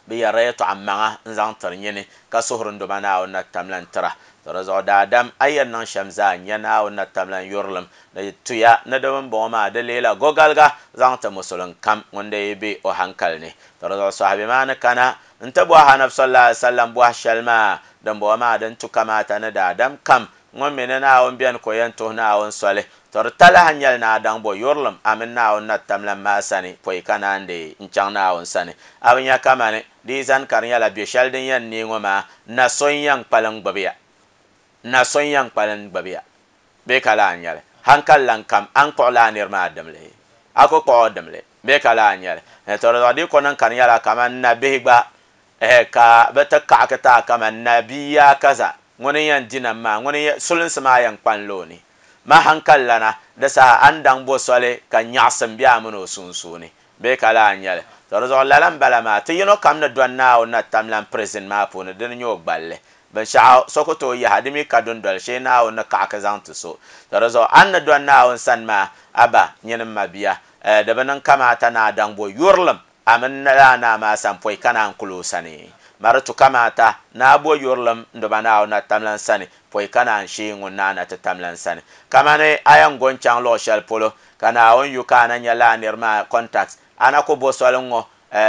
bi yɛrila yɛltɔɣa maŋa n zaŋ tiri nyini ka suhuri n-duma Naawuni na tamlan tira to di zuɣu daadam a yɛn niŋ shɛm zaa n-nyɛ Naawuni na tamlan yurilim di tuya ni di bini bɔŋɔ maa di leela gɔgaliga zaŋ ti musulin kam ŋun dee be o hankali ni to di zuɣu sahabi maa ni kana n-ti bɔhi anabi sallallahu alaihi wasallam bɔhi shɛli maa din bɔŋɔ maa din tu kamaata ni daadam kam ŋun mi ni Naawuni beni ka o yɛn tuhi Naawuni soli to di talahi n-nyɛli ni a daŋ bɔ yurilim a mini Naawuni na tamlan maa sani pɔi ka naan dee n-chaŋ Naawuni sani a bi nya kamani di yi zani ka di nyɛla bɛ shɛli din yɛn neei ŋɔ maa na so n-yɛn kpalim gbubi ya na so n-yɛn kpalim gbubi ya bee ka laa n-nyɛli hankali lan kam a ni kpuɣi laa niri maa dimli a ku kpuɣi o dimli bee ka laa n-nyɛli to di zuɣu di ko niŋ ka di nyɛla kamani nabihi gba ka bi ti kaɣaki taa kamani nabiya kaza ŋuni yɛn di nam maa ŋuni sulinsi maa yɛn kpani la o ni ma hankali lana di saha a ni daŋ bo soli ka nyaɣasim be a mini o sunsuuni bee ka laa n-nyɛli to di zuɣu lala n-bala maa ti yino kam ni dɔni Naawuni na tamlan prison maa puuni dini nyɛ o gballi binshɛɣu so ku tooi yaha di mi ka dundoli shee Naawuni ni kaɣaki zaŋ ti so to di zuɣu a ni dɔni Naawuni sani maa aba nyini m ma bia di bi niŋ kamaata ni a daŋ bo yurilim a mini laa naa maa sani pɔi ka naan kuli o sani mari tu kamaata ni a bo yurilim n-duma Naawuni na tamlan sani pɔi ka naan shee ŋun naa na ti tamlan sani kamani a yɛn go n-chaŋ luɣ shɛli polo ka Naawuni yu ka a na nyɛ laa niri maa contact a na ku bo soli ŋɔ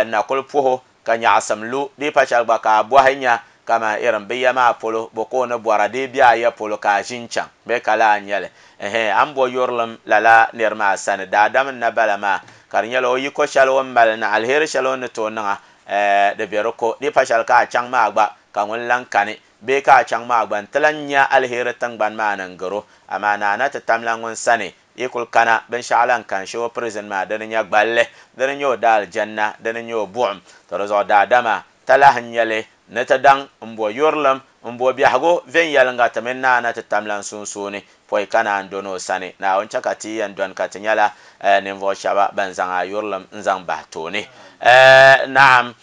na kuli puhi ka nyaɣasim lu di pa shɛli gba ka a bɔhi nya kama irin bi ya maa polo bo ka o ni bɔra di be a ya polo ka a ʒi n-chaŋ bee ka laa n-nyɛli a ni bo yurilim lala niri maa sani daadam n-na bala maa ka di nyɛla o yiko shɛli o ni mali ni aliheri shɛli o ni tooi niŋa di be di ko di pa shɛli ka a chaŋ maa gba ka ŋun lan kani bee ka a chaŋ maa gba n-ti lan nya aliheri tiŋgbani maa ni n-garo amaa naana ti tamla ŋun sani yi kuli kana binshaɣu lan kan shee o prison maa dini nyɛ gballi dini nyɛ o daal janna dini nyɛ o buɣum to di zuɣu daadama talahi n nyɛli ni ti daŋ n bo yurilim n bo biɛhigu viɛnyɛlinga ti mini naana ti tamlan sunsuuni pɔi ka naan doni o sani Naawuni chɛ ka ti yɛn doni ka ti nyɛla ninvuɣu shɛba ban zaŋ a yurilim n zaŋ bahi tooni naam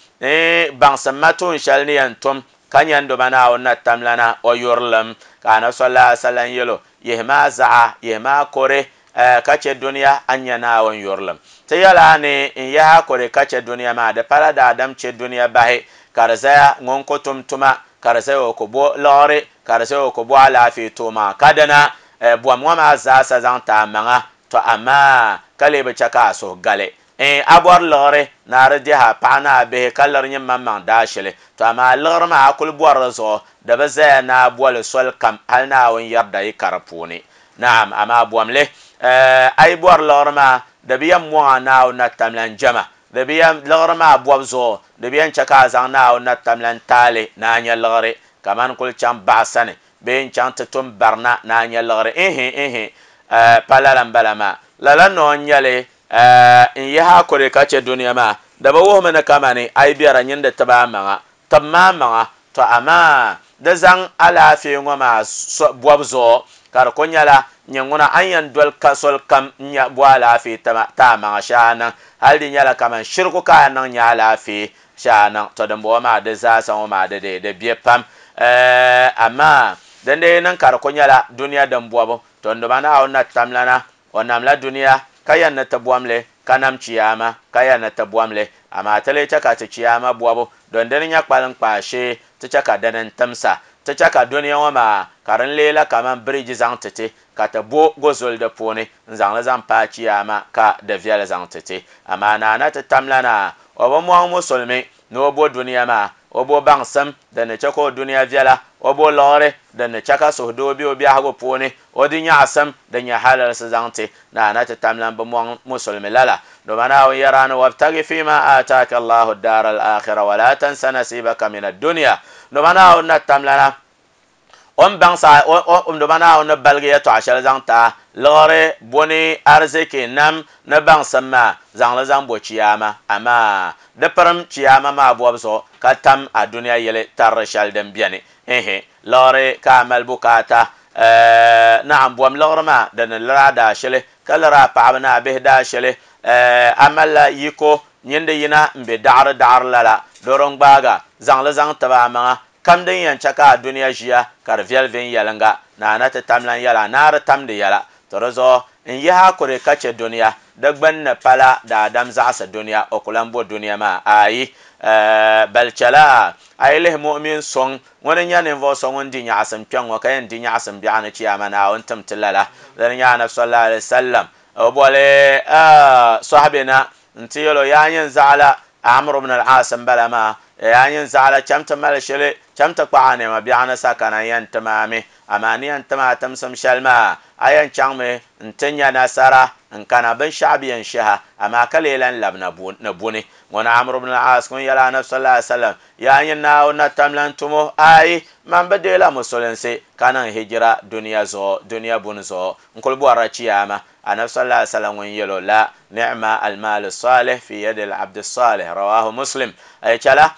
baŋsim ma tuun shɛli ni yɛn tum ka nyɛndoma Naawuni na tamlana o yurilim ka anabi sallallahu alaihi wasallam yɛlo yihi maa zaɣa yihi maa kore ka chɛ duniya a nya Naawuni yurilim ti yɛla ni n yaha kore ka chɛ duniya maa di pala daadam chɛ duniya bahi ka di zaya ŋun ku tum tuma ka di zaya o ku bo liɣiri ka di zaya o ku bo alaafee too maa ka dina bom ŋɔ maa zaasa zaŋ ti a maŋa to amaa ka lee bi chɛ ka a suhu gali a bɔri liɣiri ni a di dihi a paɣa ni a bihi ka liri nyini maŋmaŋ daashili to amaa liɣiri maa a kuli bɔri di zuɣu di bi zaya ni a boli soli kam hali Naawuni yarida yi ka di puuni naam amaa bomli a yi bɔri liɣiri maa di bi yɛn mɔŋ a Naawuni na tamlan jɛma di bi yɛn liɣiri maa bɔbu zuɣu di bi yɛn chɛ ka a zaŋ Naawuni na tamlan taali ni a nya liɣiri kamani kuli chaŋ baɣa sani bee n chaŋ ti tum barina ni a nya liɣiri ihi ihi pa lala n bala maa lala noo n nyɛli n yihi a kore ka chɛ duniya maa di bi wuhimi ni kamani a yi biɛra nyini di tiba a maŋa tib maa maŋa to amaa di zaŋ alaafee ŋɔ maa bɔbu zuɣu ka di ku nyɛla nyɛ ŋuna a ni yɛn doli ka soli kam n nya bo alaafee ti a maŋa shee a niŋ hali di nyɛla kaman shiriku ka a niŋ nyɛ alaafee shee a niŋ to dimbɔŋɔ maa di zaasa ŋɔ maa di di di bɛ pam amaa din dee niŋ ka di ku nyɛla duniya din bɔbu to nduma Naawuni na tamlana o namla duniya ka yɛn ni ti bɔmli ka nam chiyaama ka yɛn ni ti bɔmli amaa ti lee chɛ ka ti chiyaama bɔbu don dini nyɛ kpalim kpaa shee ti chɛ ka dini n timsa ti chɛ ka duniya ŋɔ maa ka din lee la kaman biriji zaŋ ti ti ka ti bo gozoli di puuni n zaŋli zaŋ paai chiyaama ka di viɛli zaŋ ti ti amaa naana ti tamlana o bi mɔŋ musulimi ni o bo duniya maa o bo baŋsim din ni chɛ ka o duniya viɛla o bo liɣiri din ni chɛ ka suhudoo be o biɛhigu puuni o di nyaɣasim din nyɛ halalsi zaŋ ti naana ti tamlan bi mɔŋ musulimi lala doma Naawuni yɛra ni wabtagi fima ataaka Allahu daara al-akhira wala tansa nasibaka min ad-dunya doma Naawuni na tamlana o ni baŋsa doma Naawuni ni baligi yɛltɔɣa shɛli zaŋ ti liɣiri boni ariziki nam ni baŋsim maa zaŋli zaŋ bo chiyaama amaa di pirim chiyaama maa bɔbu zuɣu ka tam a duniya yɛli tarili shɛli din biɛni ihi liɣiri ka a mali bukaata naam bom liɣiri maa din ni liri a daashili ka liri a paɣaba ni a bihi daashili a malila yiko nyindi yina n be daɣari daɣari lala doro n gbaaga zaŋli zaŋ tibi a maŋa kam din yɛn chɛ ka a duniya ʒiya ka di viɛli viɛnyɛlinga naana ti tamlan yɛla naa di tamdi yɛla to di zuɣu n yihi a kore ka chɛ duniya di gbunni pala daadam zaɣasi duniya o ku lan bo duniya maa ayi bal chɛla a yi lihi mu'min sɔŋ ŋuni nyɛ ninvuɣu so ŋun di nyaɣasim kpɛŋ ŋɔ ka yɛn di nyaɣasim biɛɣu ni chiyaama Naawuni tim ti lala dini nyɛ anabi sallallahu alaihi wasallam o boli sɔhibi na n ti yɛlo yaa nyin zaɣala Amr ibn al-As n bala maa yaa nyin zaɣala cham ti mali shɛli cham ti kpaɣa nɛma biɛɣu ni sakana yɛn ti maami amaa ni yɛn ti maa timsim shɛli maa a yɛn chaŋmi n ti nya nasara n kana binshaɣu bi yɛn shɛha amaa ka lee lan labi na buni ŋuni Amr ibn al-As ŋun yɛla anabi sallallahu alaihi wasallam yaa nyin Naawuni na tamlan tumo ayi man bi deela musulinsi ka niŋ hijira duniya zuɣu duniya buni zuɣu n kuli bɔrila chiyaama anabi sallallahu alaihi wasallam ŋun yɛlo la ni'ma al-mal salih fi yadi al-abd salih rawahu Muslim ay chala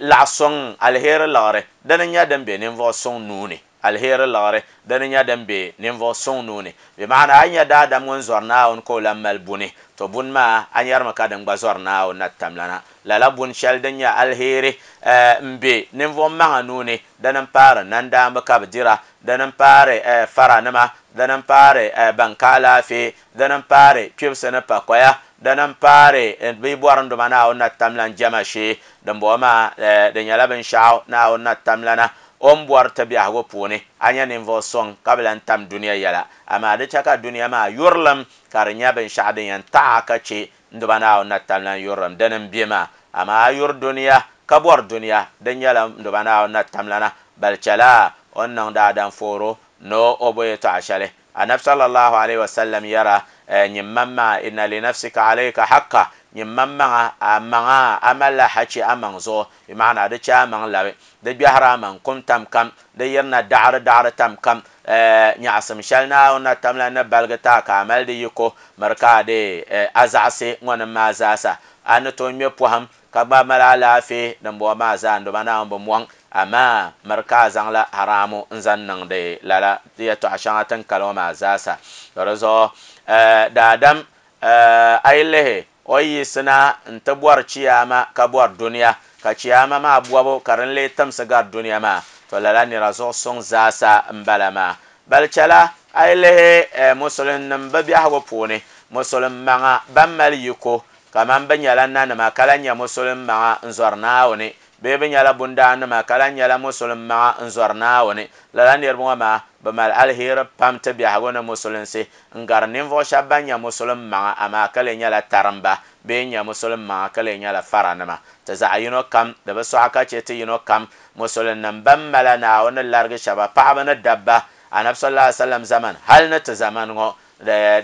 laɣ suŋ alheri liɣiri dini nyɛ din be ninvuɣu suŋ nuuni alheri liɣiri dini nyɛ din be ninvuɣu suŋ nuuni bi maana a nyɛ daadam ŋun zɔri Naawuni ka o lan mali buni to buni maa a nyɛrimi ka din gba zɔri Naawuni na tamlana lala buni shɛli din nyɛ alheri n be ninvuɣu maŋa nuuni dini n paari nandaamba ka bi dira dini n paari faranima dini n paari ban ka alaafee dini n paari kpibisi ni pakoya dini n paari bi bɔri nduma Naawuni na tamlan jɛma shee dimbɔŋɔ maa di nyɛla binshaɣu Naawuni na tamlana o ni bɔri ti biɛhigu puuni a nyɛ ninvuɣu suŋ ka bi lan tam duniya yɛla amaa di chɛ ka duniya maa yurilim ka di nyɛ binshaɣu din yɛn taɣa ka chɛ nduma Naawuni na tamlan yurilim dini n bɛ maa amaa a yuri duniya ka bɔri duniya din nyɛla nduma Naawuni na tamlana bal chɛla o ni niŋ daadam fooro ni o bo yɛltɔɣa shɛli anabi sallallahu alaihi wasallam yɛra nyimman maa inna li nafsika alayka haqqa nyim mammaŋa a maŋa a malila hachi a maŋ zuɣu bi maana di chɛ a maŋ labi di gbɛhiri a maŋ kum tam kam di yirina daɣari daɣari tam kam nyaɣasim shɛli Naawuni na tamla ni baligi taa ka a mali di yiko miri ka a de a zaɣasi ŋɔnim maa zaasa a ni tooi ŋmɛ pɔhim ka gba mali alaafee din bɔŋɔ maa zaa n doma Naawuni bi mɔŋ amaa miri ka a zaŋla haramu n zaŋ niŋdi lala yɛltɔɣa shɛŋa tin kali ŋɔ maa zaasa to di zuɣu daadam a yi lihi o yiɣisina n ti bɔri chiyaama ka bɔri duniya ka chiyaama maa bɔbu ka din lee timsi gari duniya maa to lala nira zuɣu suŋ zaasa n bala maa bali chɛla a yi lihi musulinnim bi biɛhigu puuni musulin maŋa ban mali yiko kaman bi nyɛla nanima ka lahi nyɛ musulin maŋa n zɔri Naawuni bee bi nyɛla bundaannima ka lahi nyɛla musulin maŋa n zɔri Naawuni lala niriba ŋɔ maa bi mali aliheri pam ti biɛhigu ni musulinsi n gari ninvuɣu shɛba ban nyɛ musulin maŋa amaa ka lee nyɛla tarimba bee nyɛ musulin maŋa ka lee nyɛla faranima ti zaɣa yino kam di bi sɔɣa ka chɛ ti yino kam musulinnim ban mala Naawuni ni larigi shɛba paɣaba ni dabba Anabi sallallahu alaihi wasallam zaman hali ni ti zaman ŋɔ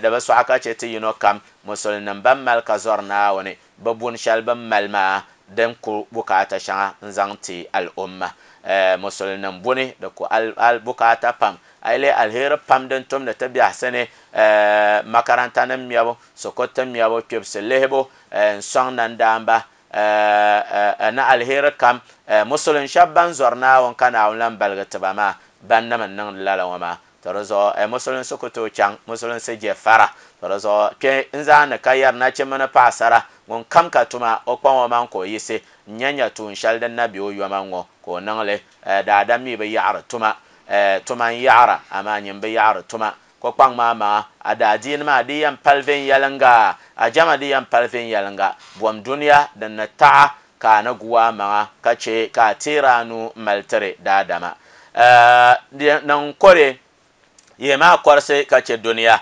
di bi sɔɣa ka chɛ ti yino kam musulinnim ban mali ka zɔri Naawuni bi buni shɛli bin mali maa din ku bukaata shɛŋa n zaŋ ti al'umma musulinnim buni di ku al bukaata pam a yi lihi aliheri pam din tumdi ti biɛhisi ni makaranta nim mɛbu sokoto mɛbu kpibisi lihibu n sɔŋ nandaamba ni aliheri kam musulin shɛba ban zɔri Naawuni ka Naawuni lan baligi tiba maa ban nim n niŋdi lala ŋɔ maa to di zuɣu musulinsi ku tooi chaŋ musulinsi je fara to di zuɣu kpɛ n zaani ka yɛri nachimba ni paɣasara ŋun kam ka tuma o kpaŋ o maŋ ka o yiɣisi n nya nya tuun shɛli din na be o yoma ŋɔ ka o niŋli daadam mi bi yaɣari tuma tuma n yaɣara amaa nyin bi yaɣari tuma ko kpaŋ maa maŋa a daadiini maa di yɛn pali viɛnyɛlinga a jama di yɛn pali viɛnyɛlinga bom duniya din ni taɣa ka a ni gu a maŋa ka chɛ ka a teeri a nuu mali tiri daadama niŋ kore yihi maa kɔrisi ka chɛ duniya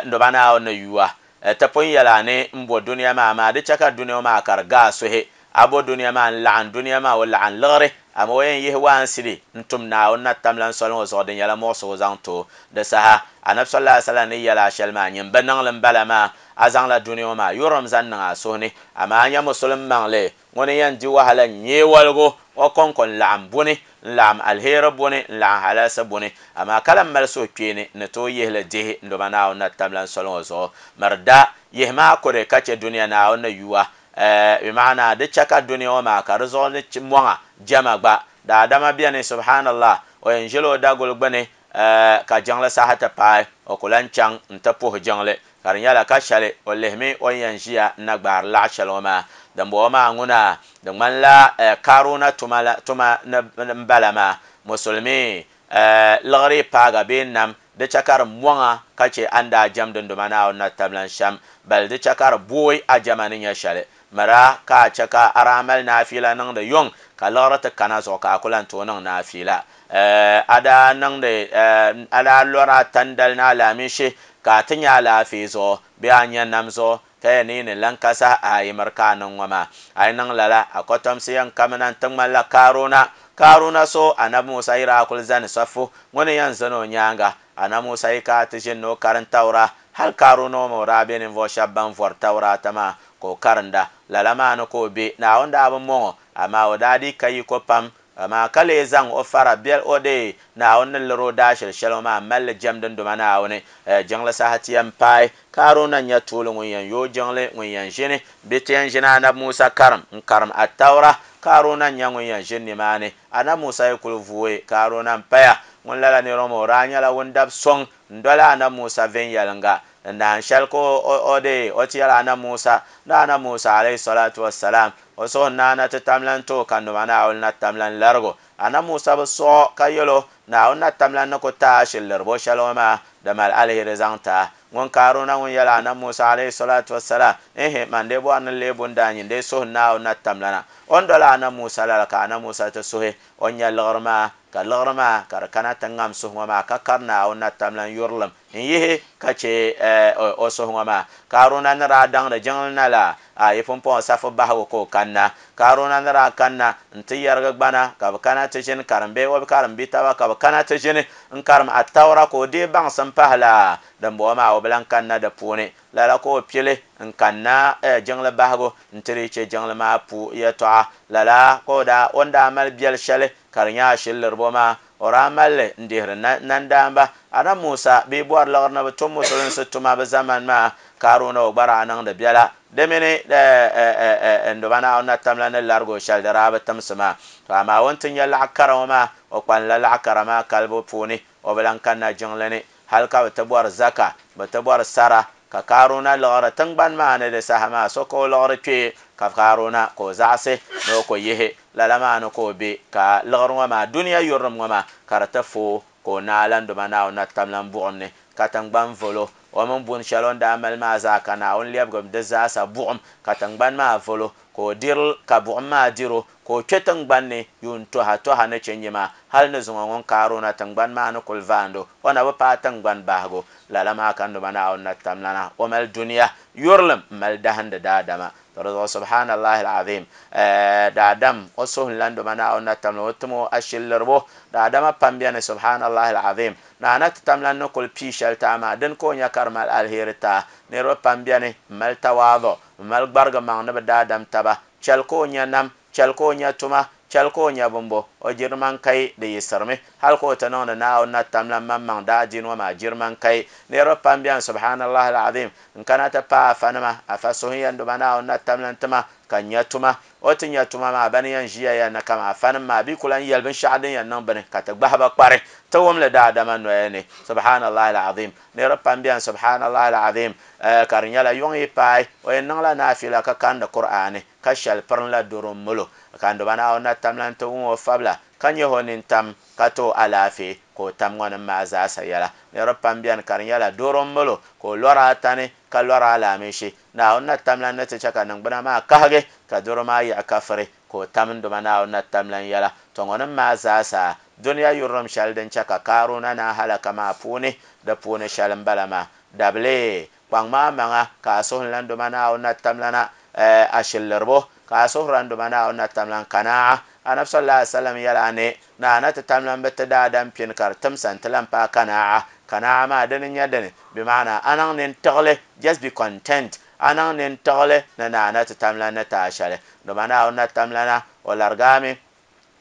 n doba Naawuni ni yuwa ti pun yɛla ni n bo duniya maa amaa di chɛ ka duniya maa ka di gaa suhi a bo duniya maa n laɣim duniya maa o laɣim liɣiri amaa o yɛn yihi waansili n tum Naawuni na tamla soli ŋɔ zuɣu di nyɛla muɣusigu zaŋ ti o di saha Anabi sallallahu alaihi wasallam ni yɛla a shɛli maa nyin bi niŋli n bala maa a zaŋla duniya ŋɔ maa yurilim zaŋ niŋ a suhu ni amaa a nyɛ musulin maŋli ŋuni yɛn di wahala n nyee waligu o kɔŋko n laɣim buni n laɣim aliheri buni n laɣim halalsi buni amaa ka lan mali suhukpeeni ni tooi yihili dihi n doma Naawuni na tamla soli ŋɔ zuɣu miri da yihi maa kuri ka chɛ duniya Naawuni ni yuwa bi maana di chɛ ka duniya ŋɔ maa ka di zuɣu ni mɔŋa jama gba daadama bɛni subhanallah o yɛn ʒila o daguli gbuni ka jiŋli saha ti paai o ku lan chaŋ n ti puhi jiŋli ka di nyɛla ka shɛli o lihimi o ni yɛn ʒiya n na gbaari laɣa shɛli ŋɔ maa din bɔŋɔ maa ŋuna di ŋmanila Karuna tuma tuma n bala maa musulmi liɣiri paaga bee nam di chɛ ka di mɔŋa ka chɛ a ni daa jɛm dindoma Naawuni na tablan shɛm bali di chɛ ka di booi a jɛma ni nyɛ shɛli mira ka a chɛ ka a daa mali naafiila niŋdi yuŋ ka liɣiri ti kana zuɣu ka a ku lan tooi niŋ naafiila a daa niŋdi a daa lɔri a tandali ni alaamishi ka a ti nyɛ alaafee zuɣu bee a nyɛ nam zuɣu ka yɛn ni ni lan ka saha a yi miri ka a niŋ ŋɔ maa a yi niŋ lala a kɔtomsi yɛn kamina n ti ŋmanila Karuna Karuna so Anabi Musa yi daa kuli zani safu ŋuni yɛn zani o nyaanga Anabi Musa yi ka ti ʒini ni o karim tawura hali Karuna ŋɔ o daa be ninvuɣu shɛba ban vɔri tawuraata maa ka o karinda lala maa ni ka o be Naawuni daa bi mɔŋɔ amaa o daa dii ka yiko pam amaa ka lee zaŋ o fara bɛli o de Naawuni ni liri o daashili shɛli ŋɔ maa m-mali li jɛm dindoma Naawuni jiŋli saha ti yɛn paai Karuna n-nyɛ tuuli ŋun yɛn yooi jiŋli ŋun yɛn ʒini bɛ ti yɛn ʒini Anabi Musa karim n karim Attawra Karuna n-nyɛ ŋun yɛn ʒini nimaani Anabi Musa yi kuli vooi Karuna n-paya ŋun lala nira ŋɔ o daa nyɛla ŋun dabi sɔŋ n doli Anabi Musa viɛnyɛlinga n nahin shɛli ka o de o ti yɛli Anabi Musa ni Anabi Musa alayhi salatu wassalam o suhu naana ti tamlan tooi ka numa Naawuni na tamlan larigu Anabi Musa bi sɔɣi ka yɛlo Naawuni na tamlan ni ku taai shili liribo shɛli ŋɔ maa di mali aliheri zaŋ taa ŋun Karuna ŋun yɛli Anabi Musa alayhi salatu wassalam ehe man dee bɔri ni lee bundaa nyin dee suhu Naawuni na tamlana o ni doli Anabi Musa lala ka Anabi Musa ti suhi o nya liɣiri maa ka liɣiri maa ka di kana ti ŋam suhu ŋɔ maa ka kari Naawuni na tamlan yurilim n yihi ka chɛ o suhu ŋɔ maa Karuna ni daa daŋdi jiŋli na la a yi pumpɔŋɔ safu bahigu ka o kanna Karuna ni daa kanna n ti yɛrigi gbana ka bi kana ti ʒini karim bee o bi karim bi taba ka bi kana ti ʒini n karim Attawra ka o deei baŋsim pahi la din bɔŋɔ maa o bi lan kanna di puuni Lala ka o pili n kanna jiŋli bahigu n tiri che jiŋli maa pu yɛltɔɣa. Lala ka o daa o ni daa mali biɛli shɛli ka di nyɛ ashiliribo maa o daa malli n dihiri nandaamba. Ana Musa bɛ bɔri liɣiri ni bi tum musulinsi tuma bi zamani maa Karuna o gba daa niŋdi biɛla di mini n duba Naawuni na tamla ni larigi o shɛli di daa bi timsi maa. To amaa o ni ti nyɛ laɣa kara ŋɔ maa o kpanila laɣa kara maa kalibu puuni o bi lan kanna jiŋli ni hali ka bi ti bɔri zaka bi ti bɔri sara ka Karuna liɣiri tingbani maa ni di saha maa so ka o liɣiri kpee ka Karuna ka o zaɣasi ni o ko yihi lala maa ni ka o be ka liɣiri ŋɔ maa duniya yurilim ŋɔ maa ka di ti foo ka o naai lan duba Naawuni na tamla buɣum ni ka tingbani volo o mini buni shɛli o ni daa mali maa zaa ka Naawuni lɛbigi di zaasa buɣum ka tingbani maa volo ka o diri ka buɣum maa diro ka o kpe tingbani ni yuun toha toha ni chinji maa hali ni zuŋɔ ŋun Karuna tingbani maa ni kuli vaando o na bi paai tingbani bahigu. Lala maa ka n duba Naawuni na tamlana o mali duniya yurilim m mali dahindi daadama. To di zuɣu subhanallahi alazim daadam o suhu n lan duba Naawuni na tamla o timo ashiliribo daadama pam bɛni subhanallahi alazim naana ti tamlan ni kuli pii shɛli taa maa dini ka o nya ka di mali alheri taa. Niriba pam bɛni m mali tawaadu m mali gbarigi maŋ ni bi daadam taba chɛli ka o nya nam chɛli ka o nya tuma chɛli ka o nya bimbo o jiriman kai di yiɣisirimi hali ka o ti niŋdi Naawuni na tamla maŋmaŋ daa diini ŋɔ maa jiriman kai. Niriba pam bɛni subhanallahi alazim n kana ti paai afa nima afa suhu yɛn duba Naawuni na tamla n-tima ka nya tuma o ti nya tuma maa bani yɛn ʒiya ya na kama afa nim maa bi ku lan yɛli binshɛɣu din yɛn niŋ bini ka ti gbahi ba kpari ti wumli daadama noya ni subhanallahi alazim. Niriba pam bɛni subhanallahi alazim ka di nyɛla yuŋ yi paai o yɛn niŋla naafila ka kandi Qur'ani ka shɛli pirinla doro mulo ka n duba Naawuni na tamla n-ti wum o fabila ka nyɛ o nintam ka ti o alaafee ka o tam ŋɔ nim maa zaasa yɛla. Niriba pam bɛni ka di nyɛla doro mulo ka o lɔri atani ka lɔri alaamishi Naawuni na tamla ni ti chɛ ka niŋgbuna maa kahigi ka doro maa yiɣi kafiri ka o tam n duba Naawuni na tamla n yɛla. To ŋɔ nim maa zaasa duniya yurilim shɛli din chɛ ka Karuna na halaka maa puuni di puuni shɛli n bala maa dabili kpaŋ maa maŋa ka a suhu lan duba Naawuni na tamla na ashiliribo ka a suhuri n duba Naawuni na tamla kanaa. Anabi sallallahu alaihi wasallam yɛla ni naana ti tamla bi ti daadam pini ka di timsa n ti lan paai kanaa. Kanaa maa dini n nyɛ dini bi maana a niŋ nintiɣili just be content a niŋ nintiɣili ni naana ti tamla ni taa shɛli duba Naawuni na tamla na o larigaami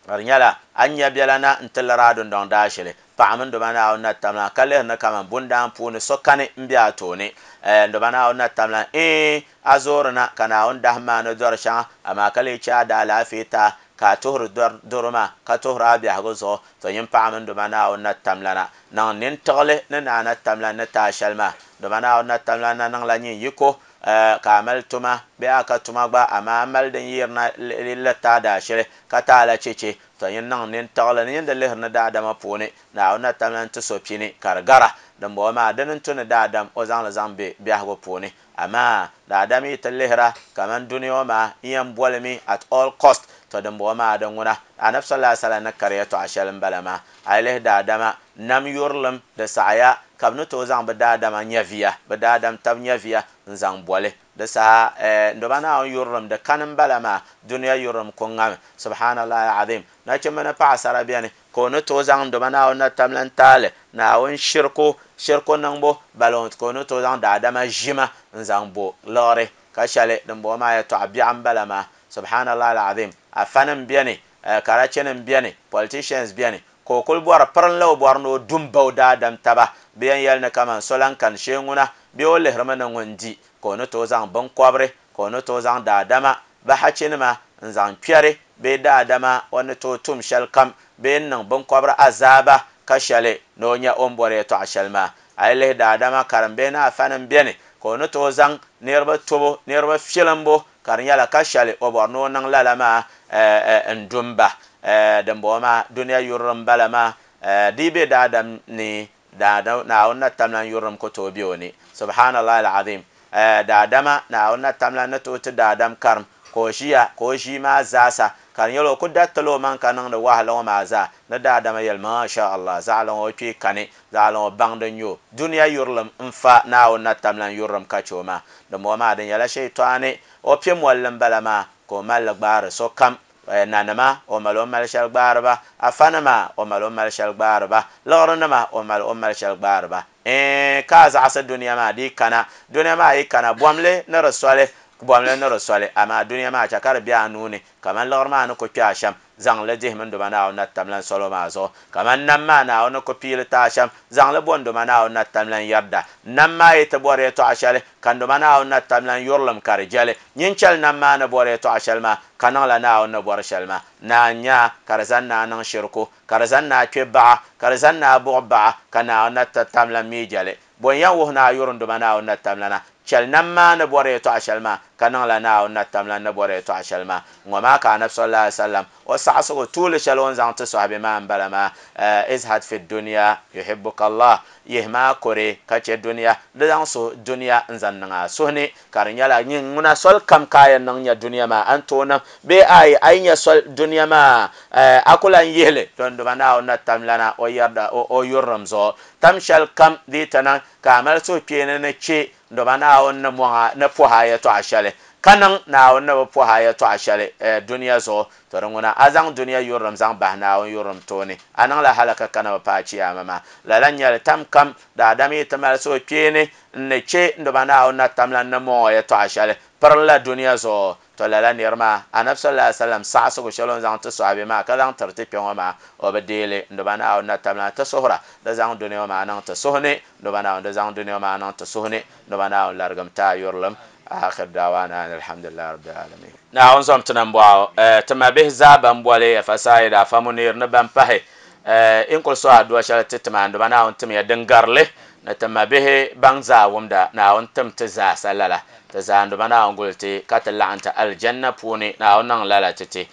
ka di nyɛla a ni nya biɛla na n ti lari a dundɔŋ daashili paɣa mini duba Naawuni na tamla ka lihiri ni kaman bundaan puuni so kani n be a tooni n duba Naawuni na tamla ee a zoori na ka Naawuni dahim maa ni dɔri shɛŋa amaa ka lee chɛ a daa alaafee taa ka a tuhiri doro maa ka tuhiri a biɛhigu zuɣu. To nyin paɣa mini duba Naawuni na tamla na niŋ nintiɣili ni naana tamla ni taa shɛli maa duba Naawuni na tamla na niŋla nyin yiko ka a mali tuma bee a ka tuma gba amaa a mali din yirina la taa daashili ka taa la cheche. To nyin niŋ nintiɣili ni nyin di lihiri ni daadama puuni Naawuni na tamla n-ti so pini ka di gara dimbɔŋɔ maa dini n-tu ni daadam o zaŋli zaŋ be biɛhigu puuni amaa daadam yi ti lihira kaman duniya ŋɔ maa n yɛn bolimi at all cost. To dimbɔŋɔ maa di ŋuna Anabi sallallahu alaihi wasallam ni kari yɛltɔɣa shɛli n bala maa a yi lihi daadama nam yurilim di saɣaya ka bi ni tooi zaŋ bi daadama nyɛviya bi daadam tabi nyɛviya n zaŋ boli di saha n duba Naawuni yurilim di kani n bala maa duniya yurilim ku ŋami subhanallahi alazim. Nachimba ni paɣasara bɛni ka o ni tooi zaŋ n duba Naawuni na tamla n taali Naawuni shirku shirku niŋbu bala ka o ni tooi zaŋ daadama ʒima n zaŋ bo liɣiri ka shɛli dimbɔŋɔ maa yɛltɔɣa biɛɣu n bala maa subhanallahi alazim. Afa nim bɛni karachi nim bɛni politicians bɛni ka o kuli bɔri pirinla o bɔri ni o dum ba o daadam taba bɛ yɛn yɛli ni kaman so lan kani shee ŋuna bee o lihirimi ni ŋun di ka o ni tooi zaŋ binkɔbiri ka o ni tooi zaŋ daadama bi hachinima n zaŋ kpɛri bee daadama o ni tooi tum shɛli kam bee n niŋ binkɔbiri azaaba ka shɛli ni o nya o ni bɔri yɛltɔɣa shɛli maa. A yi lihi daadama karimbihi ni afa nim bɛni ka o ni tooi zaŋ niriba tubu niriba filimbu ka di nyɛla ka shɛli o bɔri ni o niŋ lala maa n dumba dimbɔŋɔ maa duniya yurilim bala maa di be daadam ni Naawuni na tamla yurilim ku tooi be o ni subhanallahi alazim. Daadama Naawuni na tamla ni tooi ti daadam karim ka o ʒiya ka o ʒii maa zaasa ka di nyɛla o ku daritila o maŋ ka niŋdi wahala ŋɔ maa zaa ni daadama yɛli masha Allah zaɣali ŋɔ o kpee kani zaɣali ŋɔ baŋdi n nyɛ o duniya yurilim n fa Naawuni na tamla yurilim ka chɛ o maa dimbɔŋɔ maa di nyɛla shɛyitɔɣani o piɛ molli n bala maa ka o malli gbaari sokam Nanima o mali o mali shɛli gbaariba afanima o mali o mali shɛli gbaariba liɣirinima o mali o mali shɛli gbaariba ka a zaɣasi duniya maa di kana duniya maa yi kana bomli ni di soli bomli ni di soli amaa duniya maa chɛ ka di bɛ a nuuni kaman liɣiri maa ni ku kpɛ a shɛm zaŋli dihimi nduma Naawuni na tamlan solo maa zuɣu kaman nam maa Naawuni ku piili ti a shɛm zaŋli bo nduma Naawuni na tamlan yɛrida nam maa yi ti bɔri yɛltɔɣa shɛli ka nduma Naawuni na tamlan yurilim ka di jɛli nyin chɛli nam maa ni bɔri yɛltɔɣa shɛli maa ka niŋla Naawuni ni bɔri shɛli maa naa nya ka di zaŋ naa niŋ shiriku ka di zaŋ naa kpɛ baɣa ka di zaŋ naa buɣi baɣa ka Naawuni na tamlan mi jɛli bon yɛn wuhi naa yuri nduma Naawuni na tamlana chɛli nam maa ni bɔri yɛltɔɣa shɛli maa ka niŋla Naawuni na tamlan ni bɔri yɛltɔɣa shɛli maa ŋɔ maa ka anabi sallallahu alaihi wasallam o saɣasigu tuuli shɛli o ni zaŋ ti sɔhibi maa n bala maa izhad fi dunya yuhibbuka Allah yihi maa kore ka chɛ duniya di zaŋ suhu duniya n zaŋ niŋ a suhu ni ka di nyɛla nyin ŋuna soli kam ka a yɛn niŋ nya duniya maa a ni tooi niŋ bee ayi a yi nya soli duniya maa a ku lan yihili to nduma Naawuni na tamlana o yɛrida o yurilim zuɣu tam shɛli kam di yi ti niŋ ka a mali suhukpeeni ni chɛ nduma Naawuni ni mɔŋa ni pɔhi a yɛltɔɣa shɛli ka niŋ Naawuni ni bi pɔhi a yɛltɔɣa shɛli duniya zuɣu to di ŋuna a zaŋ duniya yurilim zaŋ bahi Naawuni yurilim tooni a niŋla halaka kana bi paai chiyaama maa lala n nyɛli tam kam daadam yi ti mali suhukpeeni n ni chɛ nduma Naawuni na tamlan ni mɔŋɔ yɛltɔɣa shɛli pirinla duniya zuɣu to lala niri maa anabi sallallahu alaihi wasallam saɣasigu shɛli o ni zaŋ ti sɔhibi maa ka zaŋ tiri ti kpɛ ŋɔ maa o bi deeli nduma Naawuni na tamlan ti suhura di zaŋ duniya maa niŋ ti suhu ni nduma Naawuni di zaŋ duniya maa niŋ ti suhu ni nduma Naawuni larigim ti a yurilim akhir da'wana alhamdulillahi rabbil alamin Naawuni zom ti nambɔɣu ti mabihi zaa ban boli fasayida afa Munir ni ban pahi n kuli so adua shɛli ti tima nduma Naawuni timiya din garili ni ti mabihi ban zaa wumda Naawuni tim ti zaasa lala ti zaa nduma Naawuni guli ti ka ti laɣim ti aljanna puuni Naawuni niŋ lala ti ti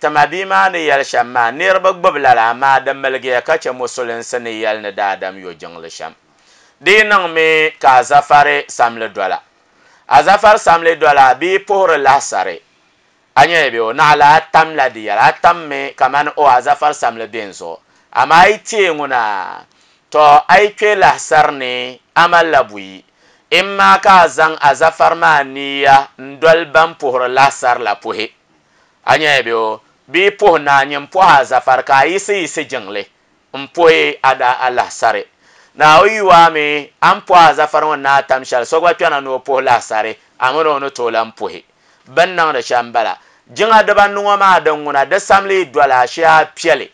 ti mabihi maa ni yɛli shɛm maa niriba gbubi lala amaa di miligiya ka chɛ musulinsi ni yɛli ni daadam yo jiŋli shɛm di niŋmi ka azafari samli dola azafar samli dola bi puhiri lahasari a nyɛ bɛ o naɣala a tamla di yɛla a tammi kamani o azafar samli bɛ n zuɣu amaa a yi teei ŋuna to a yi kpɛ lahasari ni a malila buyi imma ka a zaŋ azafar maa niya n doli ban puhiri lahasari la puhi a nyɛ bɛ o bi puhi naa nyin puhi azafar ka a yisi yisi jiŋli n puhi a da a lahasari na o yiwa mi an puhi azafar ŋɔ naa tam shɛli so gba kpɛna ni o puhi lahasari a mini o ni tooi lan puhi bin niŋdi shɛm bala jiŋa dibanu ŋɔ maa din ŋuna di samli dola shee a piɛli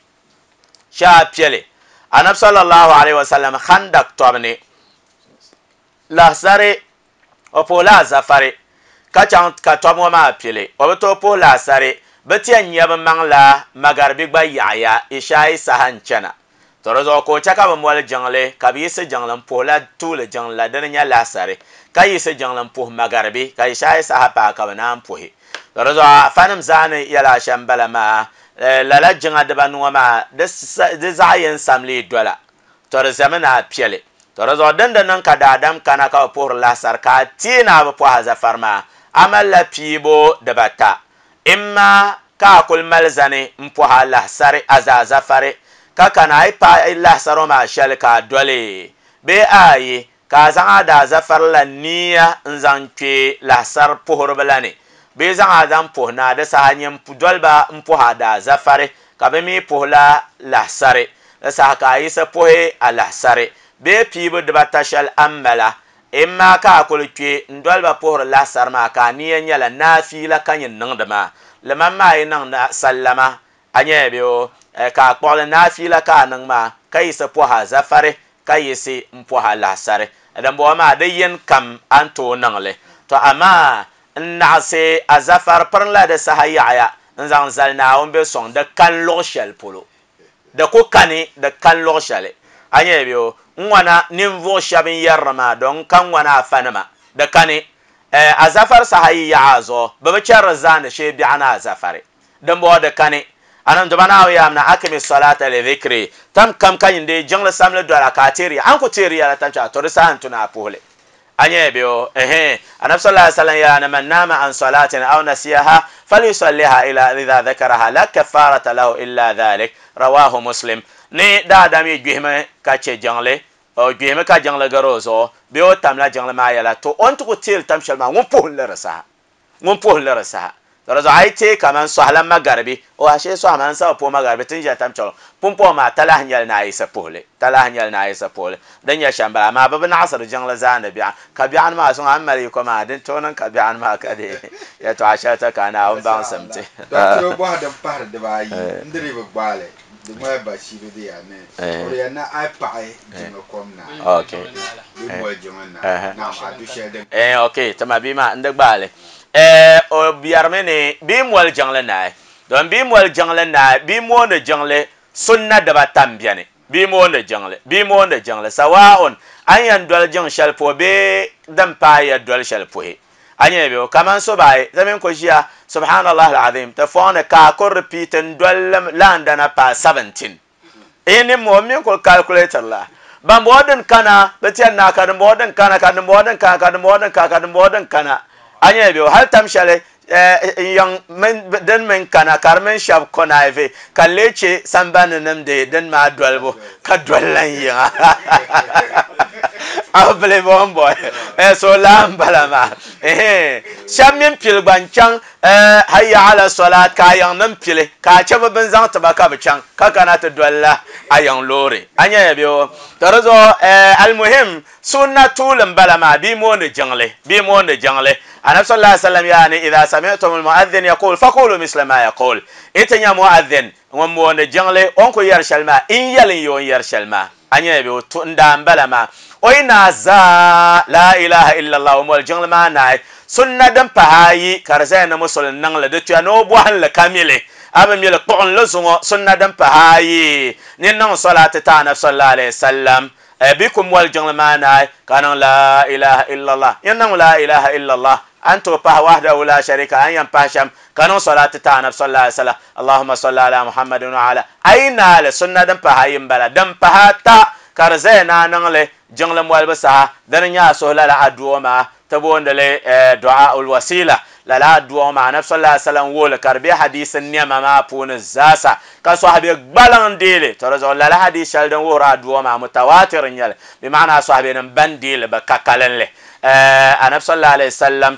shee a piɛli anabi sallallahu alaihi wasallam khandak tɔbu ni lahasari o puhi la azafari ka chaŋ ka tɔbu ŋɔ maa pili o bi tooi puhi lahasari bi ti yɛn nyɛ bi maŋ la magaribi gba yaɣaya ishaayi saha n chana to di zuɣu ka o chɛ ka bi moli jiŋli ka bi yiɣisi jiŋli n puhi la tuuli jiŋli la dini nyɛ lahasari ka yiɣisi jiŋli n puhi magaribi ka ishaayi saha paai ka bi naan puhi to di zuɣu afanim zaa ni yɛla shɛm bala maa lala jiŋa dibanu ŋɔ maa di zaɣ yɛn samli dola to di zami na a piɛli to di zuɣu din di niŋ ka daadam kana ka bi puhiri lahasari ka a teei ni a bi puhi azafari maa a malila piibu dibata imma ka a kuli mali zani n puhi a lahasari a zaa zafari ka kana a yi paai lahasari ŋɔ maa shɛli ka a doli bee ayi ka a zaŋ a daa zafari la niya n zaŋ kpɛ lahasari puhiriba la ni bee zaŋ a zaŋ puhi naa di saha nyin doliba n puhi a daa zafari ka bi mi puhi la lahasari di saha ka a yisa puhi a lahasari bee piibu dibata shɛli a ni mala imma ka a kuli kpɛ n doliba puhiri lahasari maa ka a niya nyɛla naafiila ka nyin niŋdi maa liman maa yi niŋ sallama a nyɛla bɛ o ka a kpuɣili naafiila ka a niŋ maa ka yisi puhi a zafari ka yisi n puhi a lahasari din bɔŋɔ maa di yɛn kam a ni tooi niŋli to amaa n naɣisi a zafari pirinla di saha yaɣaya n zaŋ zali Naawuni bɛ sɔŋ di kan luɣu shɛli polo di ku kani di kan luɣu shɛli a nyɛla bɛ o n ŋwana ninvuɣu shɛba n yɛriri maa don ka ŋwana afanima di kani a zafari saha yi yaɣa a zuɣu bi bi chɛriri zaani shee biɛɣu ni a zafari din bɔŋɔ di kani anan duba na ya na akimi salata li dhikri tam kam ka yinde jiŋli samli dola ka teeri an ku teeri yɛla tam cha to di saha n tuna a puhili a nyɛ bɛ o ehe anabi sallallahu alaihi wasallam ya na man nama an salatin aw nasiyaha falyusalliha ila idha dhakaraha la kafarata lahu illa dhalik rawahu muslim ni daadam yi gbihimi ka chɛ jiŋli o gbihimi ka jiŋli gari o zuɣu bee o tamla jiŋli maa yɛla to o ni ti ku teeri tam shɛli maa ŋun puhili di saha ŋun puhili di saha to zo ai te kaman sohla magarbi o ashe so man sa po magarbi tin ja tam cholo pumpo ma talah nyal na isa puhli talah nyal na isa puhli dan ya shamba ma babu na asar jangla zana bi'a ka bi'an ma sun amari ko ma din tonan ka bi'an ma ka de ya to asha ta kana un ban samte to bo da par de ba yi ndiri ba gbale de ma ba shi de ya ne o ya na ai pa ai jinga kom na okay bi mo jinga na na ma du shede eh okay tamabi ma nda gbale eh o biyarmene bi mol jangle naay don bi mol jangle naay bi mo ne jangle sunna da ba tambiane bi mo ne jangle bi mo ne jangle sawaun an yan dol jang shal po be dam pa ya dol shal po he anya be kaman so bai zamin ko jiya subhanallah alazim ta fona ka ko repeat dol landana pa seventeen ene mo min ko calculator la ban bodin kana betiyan na ka bodin kana ka bodin kana ka bodin ka ka bodin kana anya biyo hal tamshale yang men den men kana karmen shab konaive kaleche sambane nemde den ma dolbo ka dollan ya able bombo eh so lambala ma eh shamin pil banchang eh hayya ala salat ka yang nam pile ka chaba bin zang tabaka bchang ka kana ta dolla ayang lore anya biyo tarazo eh almuhim sunna tulan balama bi mo ne jangle bi mo ne jangle annabi sallallahu alaihi wasallam yani idha sami'tum almu'adhdhin yaqul faqulu misla ma yaqul itanya mu'adhdhin ngom mo ne jangle on ko yar shalma in yalin yo yar shalma anya biyo tunda balama oyna za la ilaha illa allah mo jangle ma na sunna dan pahayi karzai na musul nan la de tuya no bo han la kamile aba mi la qon la zungo sunna dan pahayi ni nan salatu ta na sallallahu alaihi wasallam bikum wal jangle ma na kana la ilaha illa allah yanna la ilaha illa allah antu pa wahdahu la sharika an yan pasham kana salatu ta na sallallahu alaihi wasallam allahumma salli ala muhammadin wa ala aina la sunna dan pahayin bala dan pahata karzai na nan le jangle mwal basa dan nya so la la aduwa ma tabondale du'a ul wasila la la du'a ma nabi sallallahu alaihi wasallam wala karbi hadisin nema ma pun zasa ka sahabi balan dele to razo la la hadis shal dan wora du'a ma mutawatir nyal bi ma'ana sahabi nan bandele ba kakalan le annabi sallallahu alaihi wasallam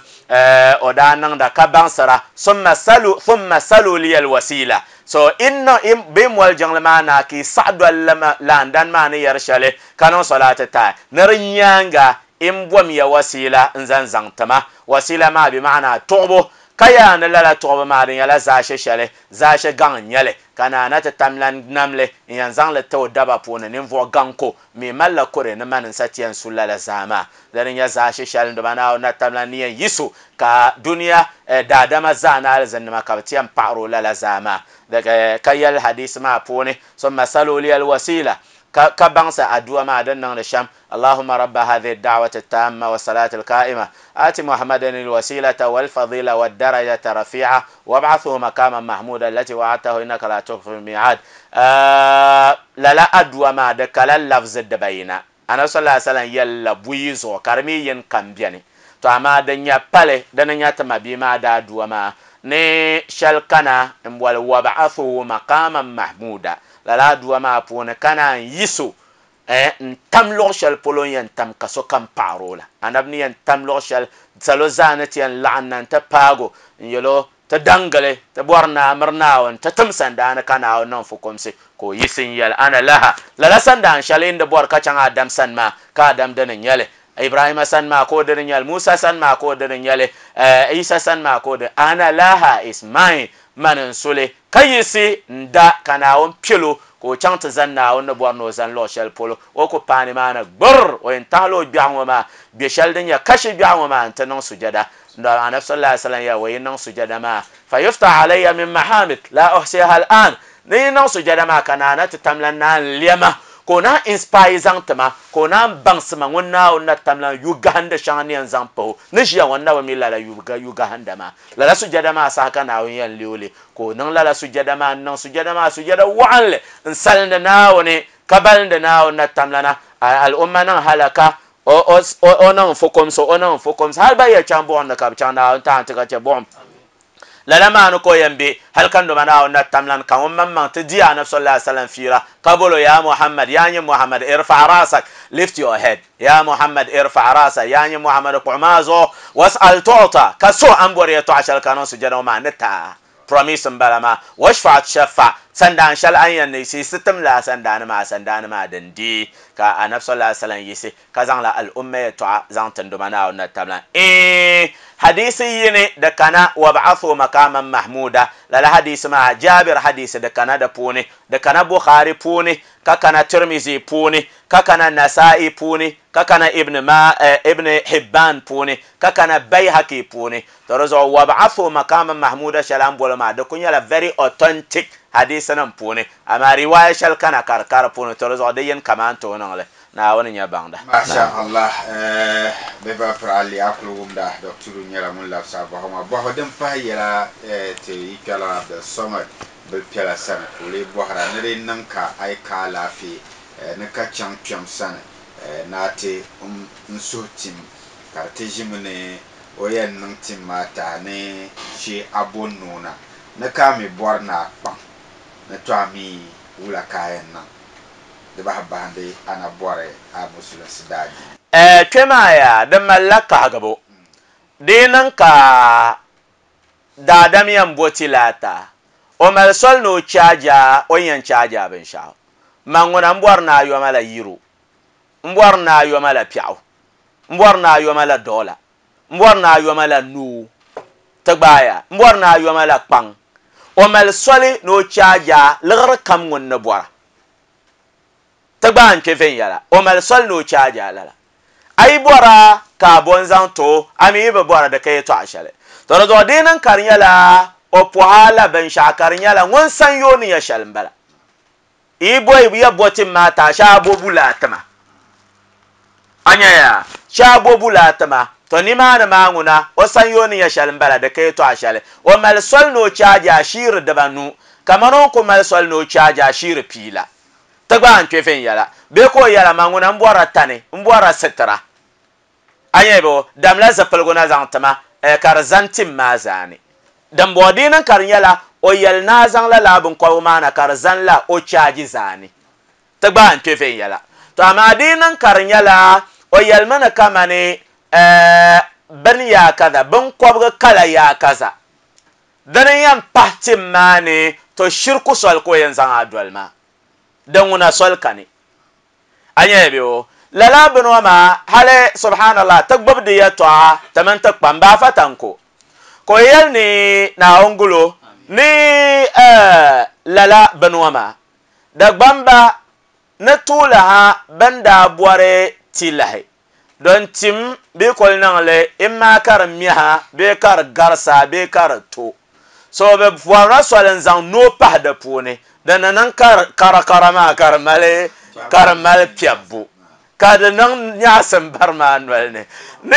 o da nan da ka bansara thumma salu thumma salu li al wasila so inna bim wal jangle ma na ki sa'du lama landan ma ni yarshale kanu salata ta narinyanga in bom ya wasila in zan zantama wasila ma bi ma'ana tubo kaya na lala tubo ma din yala zashe shale zashe gan nyale kana na ta tamlan namle yan zan le to daba pona nin vo ganko mi malla kore na manin satiyan sulala zama dan ya zashe shale da bana na tamlan ni yisu ka duniya da dama zana alzan ma ka tiyan paro lala zama daga kayal hadis ma pone summa salu li al wasila كبانس أدوى ما دنا الشام اللهم رب هذه الدعوة التامة والصلاة القائمة آت محمدا الوسيلة والفضيلة والدرجة الرفيعة وابعثه مقاما محمودا التي وعدته إنك لا تخلف الميعاد آه لا لا أدوى ما دكال اللفظ الدبينة أنا صلى الله عليه وسلم يلا بويزو كرمي ين كمبيني تو أما دنيا بالي دنيا تما بما دا أدوى ما ني شلكنا وابعثه مقاما محمودا la la duwa ma pone kana yiso eh ntam lor shal polon yan tam kaso kam parola anabni yan tam lor shal salo zanati yan la'anna ta pago yelo ta dangale ta borna marna wan ta tamsan da ana kana wannan fukumsi ko yisin yal ana laha la la sanda shal inda bor ka can adam san ma ka adam danin yale Ibrahim san ma ko danin yale Musa san ma ko danin yale Isa san ma ko da ana laha is mine manin sule kayisi nda kana on pilo ko chanta zanna on borno zan lo shel polo o ko pani mana gbur o en talo biango ma bi shel din ya kashi biango ma anta non sujada ndo annabi sallallahu alaihi wasallam ya wayin non sujada ma fa yufta alayya min mahamid la uhsiha al'an ni non sujada ma kana na tamlan na liyama ko na inspire zantama ko na bangsima ngonna onna tamla uganda shani an zampo ni shi wonna wa mila la yuga uganda ma la la sujada ma saka na won yan liole ko nan la la sujada ma nan sujada ma sujada wa'anle insalna na woni kabal da na wonna tamla na al umma nan halaka o o nan fukum so o nan fukum hal ba ya chambo on ka chana on ta ta ka bom lala maa ni ko yɛn be hali ka ndoma naawuni na tamlan ka ŋun maŋmaŋ ti di anabi sallallahu alaihi wasallam fiira ka bolo ya Muhammad ya nyɛ Muhammad irfa rasak, lift your head, ya Muhammad irfa rasak, ya nyɛ Muhammad kpuɣi zuɣu was'al tu'ta, ka so an bɔri yɛltɔɣa shɛli ka niŋ sujada ŋɔ maa ni taa promise n bala maa washfa tushaffa sandaan shɛli an yɛn ni yiɣisi tim la sandaani maa sandaani maa din di ka anabi sallallahu alaihi wasallam yiɣisi ka zaŋla al-umma yɛltɔɣa zaŋ ti ndoma naawuni na tabila ee hadisi yini da kana wab'athu maqaman mahmuda lala hadisi maa Jabir hadisi da kana da puuni da kana Bukhari puuni ka kana Tirmizi puuni ka kana Nasa'i puuni ka kana Ibn ma Ibn Hibban puuni ka kana Bayhaqi puuni to di zuɣu wab'athu maqaman mahmuda shɛli an boli maa di ku nyɛla very authentic hadisi nim puuni amaa riwaaya shɛli kana ka di ka di puuni to di zuɣu di yini kaman tooi niŋli naawuni nyɛ baŋda. Masha Allah, bɛ ba pirali akulu wumda dɔkturu nyɛla ŋun labisa bɔhɔ ŋɔ bɔhɔ din pahi yɛla ti yi kpɛla Abdul Samad bil piɛla sani ka o lee bɔhira ni di niŋ ka a yi ka alaafee ni ka chaŋ kpɛm sani ni a ti n suhu tim ka di ti ʒimi ni o yɛn niŋ tim maa tahi ni shee a bo noona ni ka a mi bɔri ni a kpaŋ ni to a mi wula ka a yɛn niŋ di bahi bahindi ana bɔri a musulinsi daadiini. Kpɛ maa yaa di malila kahigibu di niŋ ka daadam yɛn bo ti laata o mali soli ni o chaaja o yɛn chaaja binshaɣu man ŋuna n bɔri ni a yoma la yiro n bɔri ni a yoma la piɛɣu n bɔri ni a yoma la doola n bɔri ni a yoma la nuu ti gbaaya n bɔri ni a yoma la kpaŋ o mali soli ni o chaaja liɣiri kam ŋun ni bɔra ti gba n kpɛ viɛnyɛla o mali soli ni o chaaja lala a yi bɔra ka a bo n zaŋ to a mi yi bi bɔra di ka yɛltɔɣa shɛli to di zuɣu di niŋ ka di nyɛla o pɔha la binshaɣu ka di nyɛla ŋun san yoo ni nyɛ shɛli n bala yi bo ya bo tim maa taa shee a bo bulaa tima a nya yaa shee a bo bulaa tima to nimaani maa ŋuna o san yoo ni nyɛ shɛli n bala di ka yɛltɔɣa shɛli o mali soli ni o chaaja shiiri dibanu kamani o ku mali soli ni o chaaja shiiri pii la ti gba n kpɛ viɛnyɛla bee ka o yɛla ma ŋuna n bɔra tani n bɔra sitira a nyɛ bo damla zipiligu na zaŋ tima ka di zani tim maa zaani din bɔŋɔ di niŋ ka di nyɛla o yɛli ni a zaŋla laa binkɔbigu maa na ka di zani la o chaaji zaani ti gba n kpɛ viɛnyɛla to amaa di niŋ ka di nyɛla o yɛlimi ni kamani bini yaa kaza binkɔbigi kala yaa kaza dini yɛn pahi tim maa ni to shiriku soli ka o yɛn zaŋ a doli maa din ŋuna soli kani a nyɛ bɛ o lala bini ŋɔ maa hali subhanallah ti gbubi di yɛltɔɣa ti mini ti kpam baafa tanko ka o yɛli ni naawuni gulo ni lala bini ŋɔ maa Dagbamba ni tuuli ha bin daa bɔri ti lahi don tim bee koli niŋli imma ka di miha bee ka di garisa bee ka di to so bi bɔrila soli n zaŋ noo pahi di puuni di ni niŋ karakara maa ka di mali ka di mali piɛbbu ka di niŋ nyaɣasim bari maa noli ni ni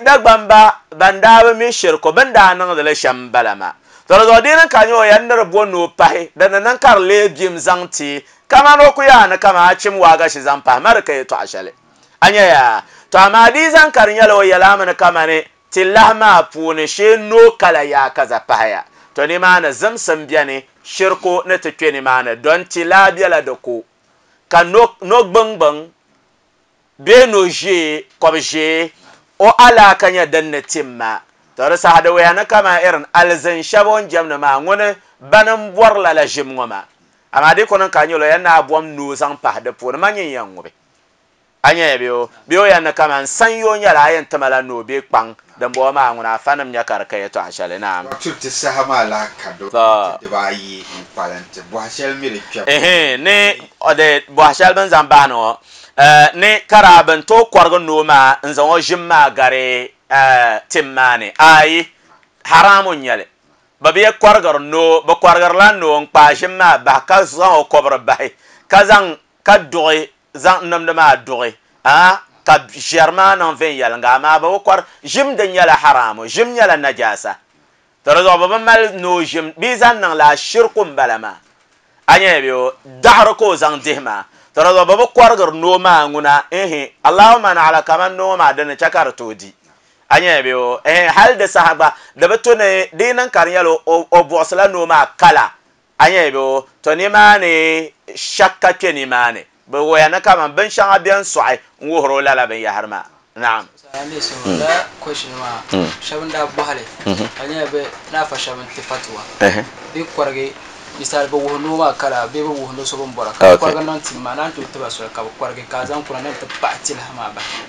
Dagbamba ban daa bi mi shiriku bin daa niŋdili shɛm n bala maa to di zuɣu di niŋ ka nyɛ o yɛn ni di bo noo pahi di ni niŋ ka di lee bim zaŋ ti kamani o ku yaa ni kama a chim waagashi zaŋ pahi ma di ka yɛltɔɣa shɛli a nyɛ yaa to amaa di zaŋ ka di nyɛla o yɛlami ni kamani ti lahi maa puuni shee noo kala yaa kaza pahaya to nimaani zimsim biɛni shiriku ni ti kpɛ nimaani don ti laa biɛla di ko ka no gbingbiŋ bee no ʒee kɔbi ʒee o alaaka nyɛ din ni tim maa to di saha di wuya ni kama irin alizin shɛba o ni jɛmdi maa ŋuni bani n bɔri lala ʒim ŋɔ maa amaa di ku niŋ ka nyɛla o yɛn ni a bɔm noo zaŋ pahi di puuni ma nyin yɛn ŋubi a nyɛ bɛ o bee o yɛn ni kaman san yoo nyɛla a yɛn tima la noo bee kpaŋ din bɔŋɔ maa ŋuna afa nim nyɛ ka di ka yɛltɔɣa shɛli naam. Dɔkta ti saha maa lahi ka do dibaayi n kpalim ti bɔhi shɛli mi di kpɛm. Ehe ni de bɔhi shɛli bin zaŋ baani ŋɔ ni kara bin tooi kɔrigi noo maa n zaŋ o ʒim maa gari tim maa ni ayi haramu n nyɛli bi bi kɔrigiri noo bi kɔrigirila noo n kpaai ʒim maa bahi ka zaŋ o kɔbiri bahi ka zaŋ ka duɣi zaŋ nimdi maa duɣi a ka ʒɛri maa niŋ viɛnyɛlinga amaa bi bi kɔri ʒim din nyɛla haramu ʒim nyɛla najaasa to di zuɣu bi bi mali noo ʒim bee zaŋ niŋ la shiriku n bala maa a nyɛ bɛ o daɣari ka o zaŋ dihi maa to di zuɣu bi bi kɔrigiri noo maa ŋuna ehe allahumma na'ala kaman noo maa dini chɛ ka di tooi di Anya be o eh hal de sahaba de betone de nan karnyalo o buɣsila noo maa kala. Anya be o to ni maani shakka kpe ni maani bi waya ni kaman binshɛŋa bɛn sɔɣi n wuhiri o lala binyahari maa. Naam. La question maa shɛba n daa bɔhili ka nyɛla bɛ naafa shɛba n ti fatuwa bɛ kɔrigi misali bi wuhi noo maa kala bee bi wuhi no so bin bɔra ka bi kɔrigi niŋ tim maa naan tooi tiba soli ka bi kɔrigi ka a zaŋ kuna ni ti paɣi tiliha maa bahi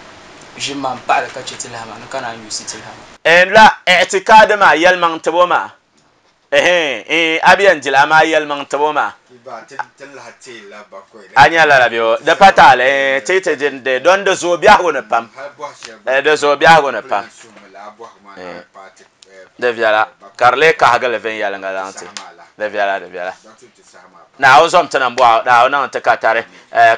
ʒim maa n paɣali ka chɛ tiliha maa ni ka naan yuusi tiliha maa. La i'tikaadi maa yɛlimaŋ tibo maa eh eh abiyan dila ma yɛlimaŋ tibo maa a nyɛla la bɛ di pa taali ti ti din de don di zooi biɛhigu ni pam di zooi biɛhigu ni pam di viɛla ka di lee kahigili viɛnyɛliŋga zaŋ ti di viɛla di viɛla Naawuni zom ti niŋ bɔɣu Naawuni niŋ ti ka tari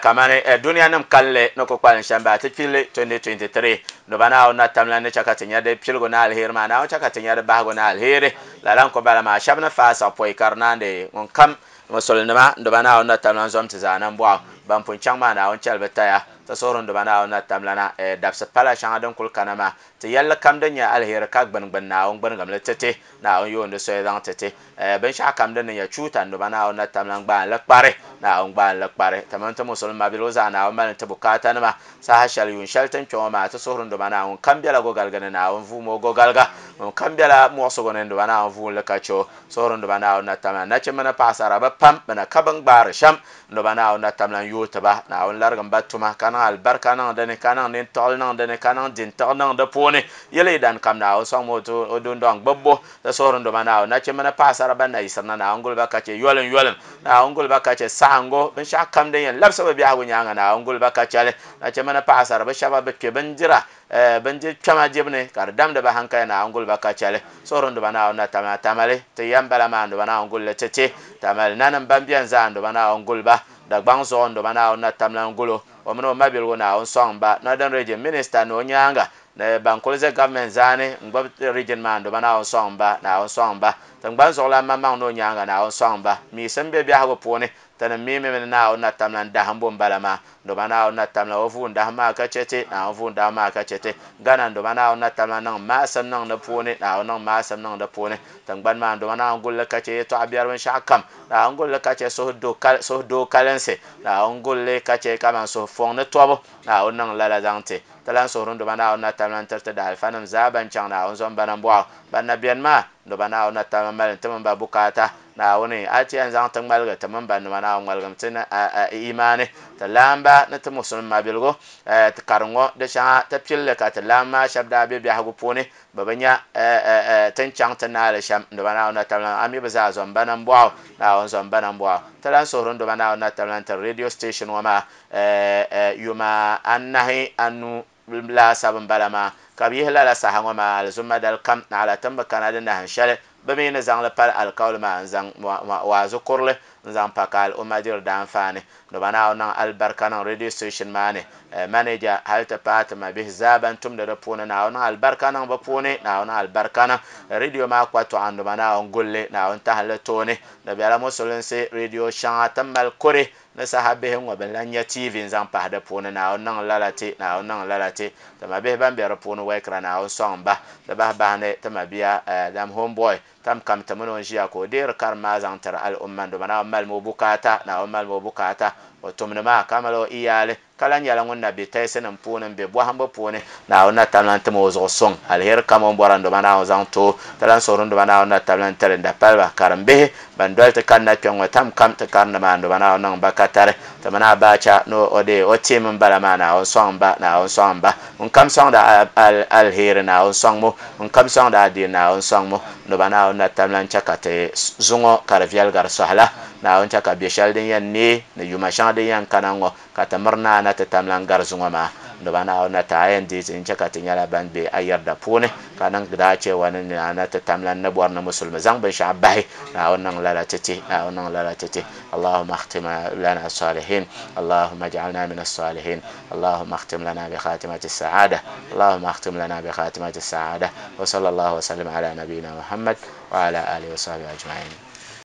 kamani duniya nim kalinli ni ku kpalim shɛm baa ti pilli twenty twenty-three nuba Naawuni na tamla ni chɛ ka ti nya di piligu ni aliheri maa Naawuni chɛ ka ti nya di bahigu ni aliheri lala n ku bala maa shɛba ni faai siɣi pɔi ka di naandi ŋun kam musulinima nduba Naawuni na tamla zom ti zaa niŋ bɔɣu ban pun chaŋ maa Naawuni chɛli bi taya ti suhuri nduba Naawuni na tamla na dabisi pala shɛŋa din kuli kana maa ti yɛlli kam din nyɛ aliheri ka gbuni gbuni Naawuni gbunigimli titi Naawuni yoondi soya zaŋ titi binshɛɣu kam din ni nyɛ chuuta nduba Naawuni na tamla gbaani li kpari Naawuni gbaani li kpari ti mini ti musulima biligu zaa Naawuni mali ti bukaata nima saha shɛli yuun shɛli tin kpɛ ŋɔ maa ti suhuri nduba Naawuni kam bɛla gogaligi ni Naawuni vuumi o gogaliga ŋun kam bɛla muɣusigu ni nduba Naawuni vuumi li ka chɛ o suhuri nduba Naawuni na tamla nachimba ni paɣasara bi pam bɛ na ka bin gbaari shɛm nduba Naawuni na tamla n yooi tiba Naawuni larigim ba tuma ka niŋ alibarika niŋ dini ka niŋ nintiɣili niŋ dini ka niŋ dintiɣi niŋ di puuni yɛli dan kam Naawuni sɔŋmi o dundɔŋ gbubbu ti suhuri nduba Naawuni nachimba ni paɣasara ban na yiɣisiri na Naawuni guli ba ka chɛ yolim yolim Naawuni guli ba ka chɛ saɣingu binshɛɣu kam din yɛn labisi bi biɛhigu nyaanga Naawuni guli ba ka chɛli nachimba ni paɣasara bi shɛba bi kpɛ bindira bindiri kpɛma dibu ni ka di damdi ba hankali Naawuni guli ba ka chɛli suhuri nduba Naawuni na tamla tamali ti yɛn bala maa nduba Naawuni guli li titi tamali nanim ban bɛni zaa nduba Naawuni guli ba Dagbaŋ zuɣu nduba Naawuni na tamla n gulo o mini o mabiligu Naawuni sɔŋ ba Northern Region Minister ni o nyaanga ni ban kuli ʒɛ government zaani n gbubi region maa nduba Naawuni sɔŋ ba Naawuni sɔŋ ba tingbani zuɣulan maŋmaŋ ni o nyaanga Naawuni sɔŋ ba miisim bɛ biɛhigu puuni tini miimi mini Naawuni na tamla n dahimbu n bala maa nduba Naawuni na tamla o vuun dahim maa ka chɛ ti Naawuni vuun dahim maa ka chɛ ti Ghana nduba Naawuni na tamla niŋ maasim niŋ di puuni Naawuni niŋ maasim niŋ di puuni tingbani maa nduba Naawuni gulli ka chɛ yɛltɔɣa biɛri binshɛɣu kam Naawuni gulli ka chɛ suhudoo kalinsi Naawuni gulli ka chɛ kaman suhufuŋ ni tɔbu Naawuni niŋ lala zaŋ ti ti lan suhuri nduba Naawuni na tamla n tiriti daalifanima zaa ban chaŋ Naawuni zom ba nambɔɣu ban na bɛni maa nduba Naawuni na tamla mali ti mini ba bukaata Naawuni a ti yɛn zaŋ ti ŋmaligi ti mini ba nima Naawuni ŋmaligim ti imaani ti laamba ni ti musulin mabiligu ti kari ŋɔ di shɛŋa ti pilli ka ti laamba maa shɛba daa be biɛhigu puuni bi bi nya tin chaŋ ti naali shɛm nduba Naawuni na tamla a mi bi zaa zom ba nambɔɣu Naawuni zom ba nambɔɣu ti lan suhuri nduba Naawuni na tamla n tiri radio station ŋɔ maa yuma anahi anu laasabu n bala maa ka bi yihi lala saha ŋɔ maa alizuma dali kam naɣala tin bi kana di nahin shɛli bi mi ni zaŋli pali alikauli maa n zaŋ waazu kurili n zaŋ pa ka al'umma diri daanfaani nduba Naawuni niŋ alibarika niŋ radio station maa ni manager hali ti paai ti mabihi zaa ban tumdi di puuni Naawuni niŋ alibarika niŋ bi puuni Naawuni niŋ alibarika niŋ radio maa kpatɔɣa nduba Naawuni gulli Naawuni tahili tooni di bɛla musulinsi radio shɛŋa tin mali kuri ni saha bihi ŋɔ bin lan nyɛ T V n zaŋ pahi di puuni Naawuni niŋ lala ti Naawuni niŋ lala ti ti mabihi ban bɛ di puuni wɛkira Naawuni sɔŋ ba di bahi bahi ni ti mabia dam homeboy tam kam ti mini o ʒiya ka o deeri karim maa zaŋ tiri al'umma nduba Naawuni malimi o bukaata Naawuni malimi o bukaata o tumdi maa ka mali o iyaali ka lan nyɛla ŋun na be tayisi nim puuni n be bɔhimbu puuni Naawuni na tamla n tim o zuɣu suŋ aliheri kam o ni bɔra nduba Naawuni zaŋ ti o ti lan suhuri nduba Naawuni na tamla n tiri n-dapaliba karimbihi ban doli ti kanna kpɛ ŋɔ tam kam ti karindi maa nduba Naawuni niŋ ba ka tari ti mini Abacha ni o dee o team n bala maa Naawuni sɔŋ ba Naawuni sɔŋ ba ŋun kam sɔŋdi aliheri Naawuni sɔŋ mu ŋun kam sɔŋdi adiini Naawuni sɔŋ mu nduba Naawuni na tamla n chɛ ka ti zuŋɔ ka di viɛli gari sɔhila Naawuni chɛ ka bɛ shɛli din yɛn neei ni yuma shɛŋa din yɛn kana ŋɔ ka ti miri naa na ti tamla n gari zuŋɔ maa nduba Naawuni na ti a yɛn deei ti n chɛ ka ti nyɛla ban be a yɛrida puuni ka niŋ daa chewa ni naa na ti tamla n ni bɔri ni musulimi zaŋ binshɛɣu bahi Naawuni niŋ lala ti ti Naawuni niŋ lala ti ti Allahumma akhtim lana salihin Allahumma ij'alna min as-salihin Allahumma akhtim lana bi khatimati as-sa'ada Allahumma akhtim lana bi khatimati as-sa'ada wa sallallahu wa sallam ala nabiyyina Muhammad wa ala alihi wa sahbihi ajma'in.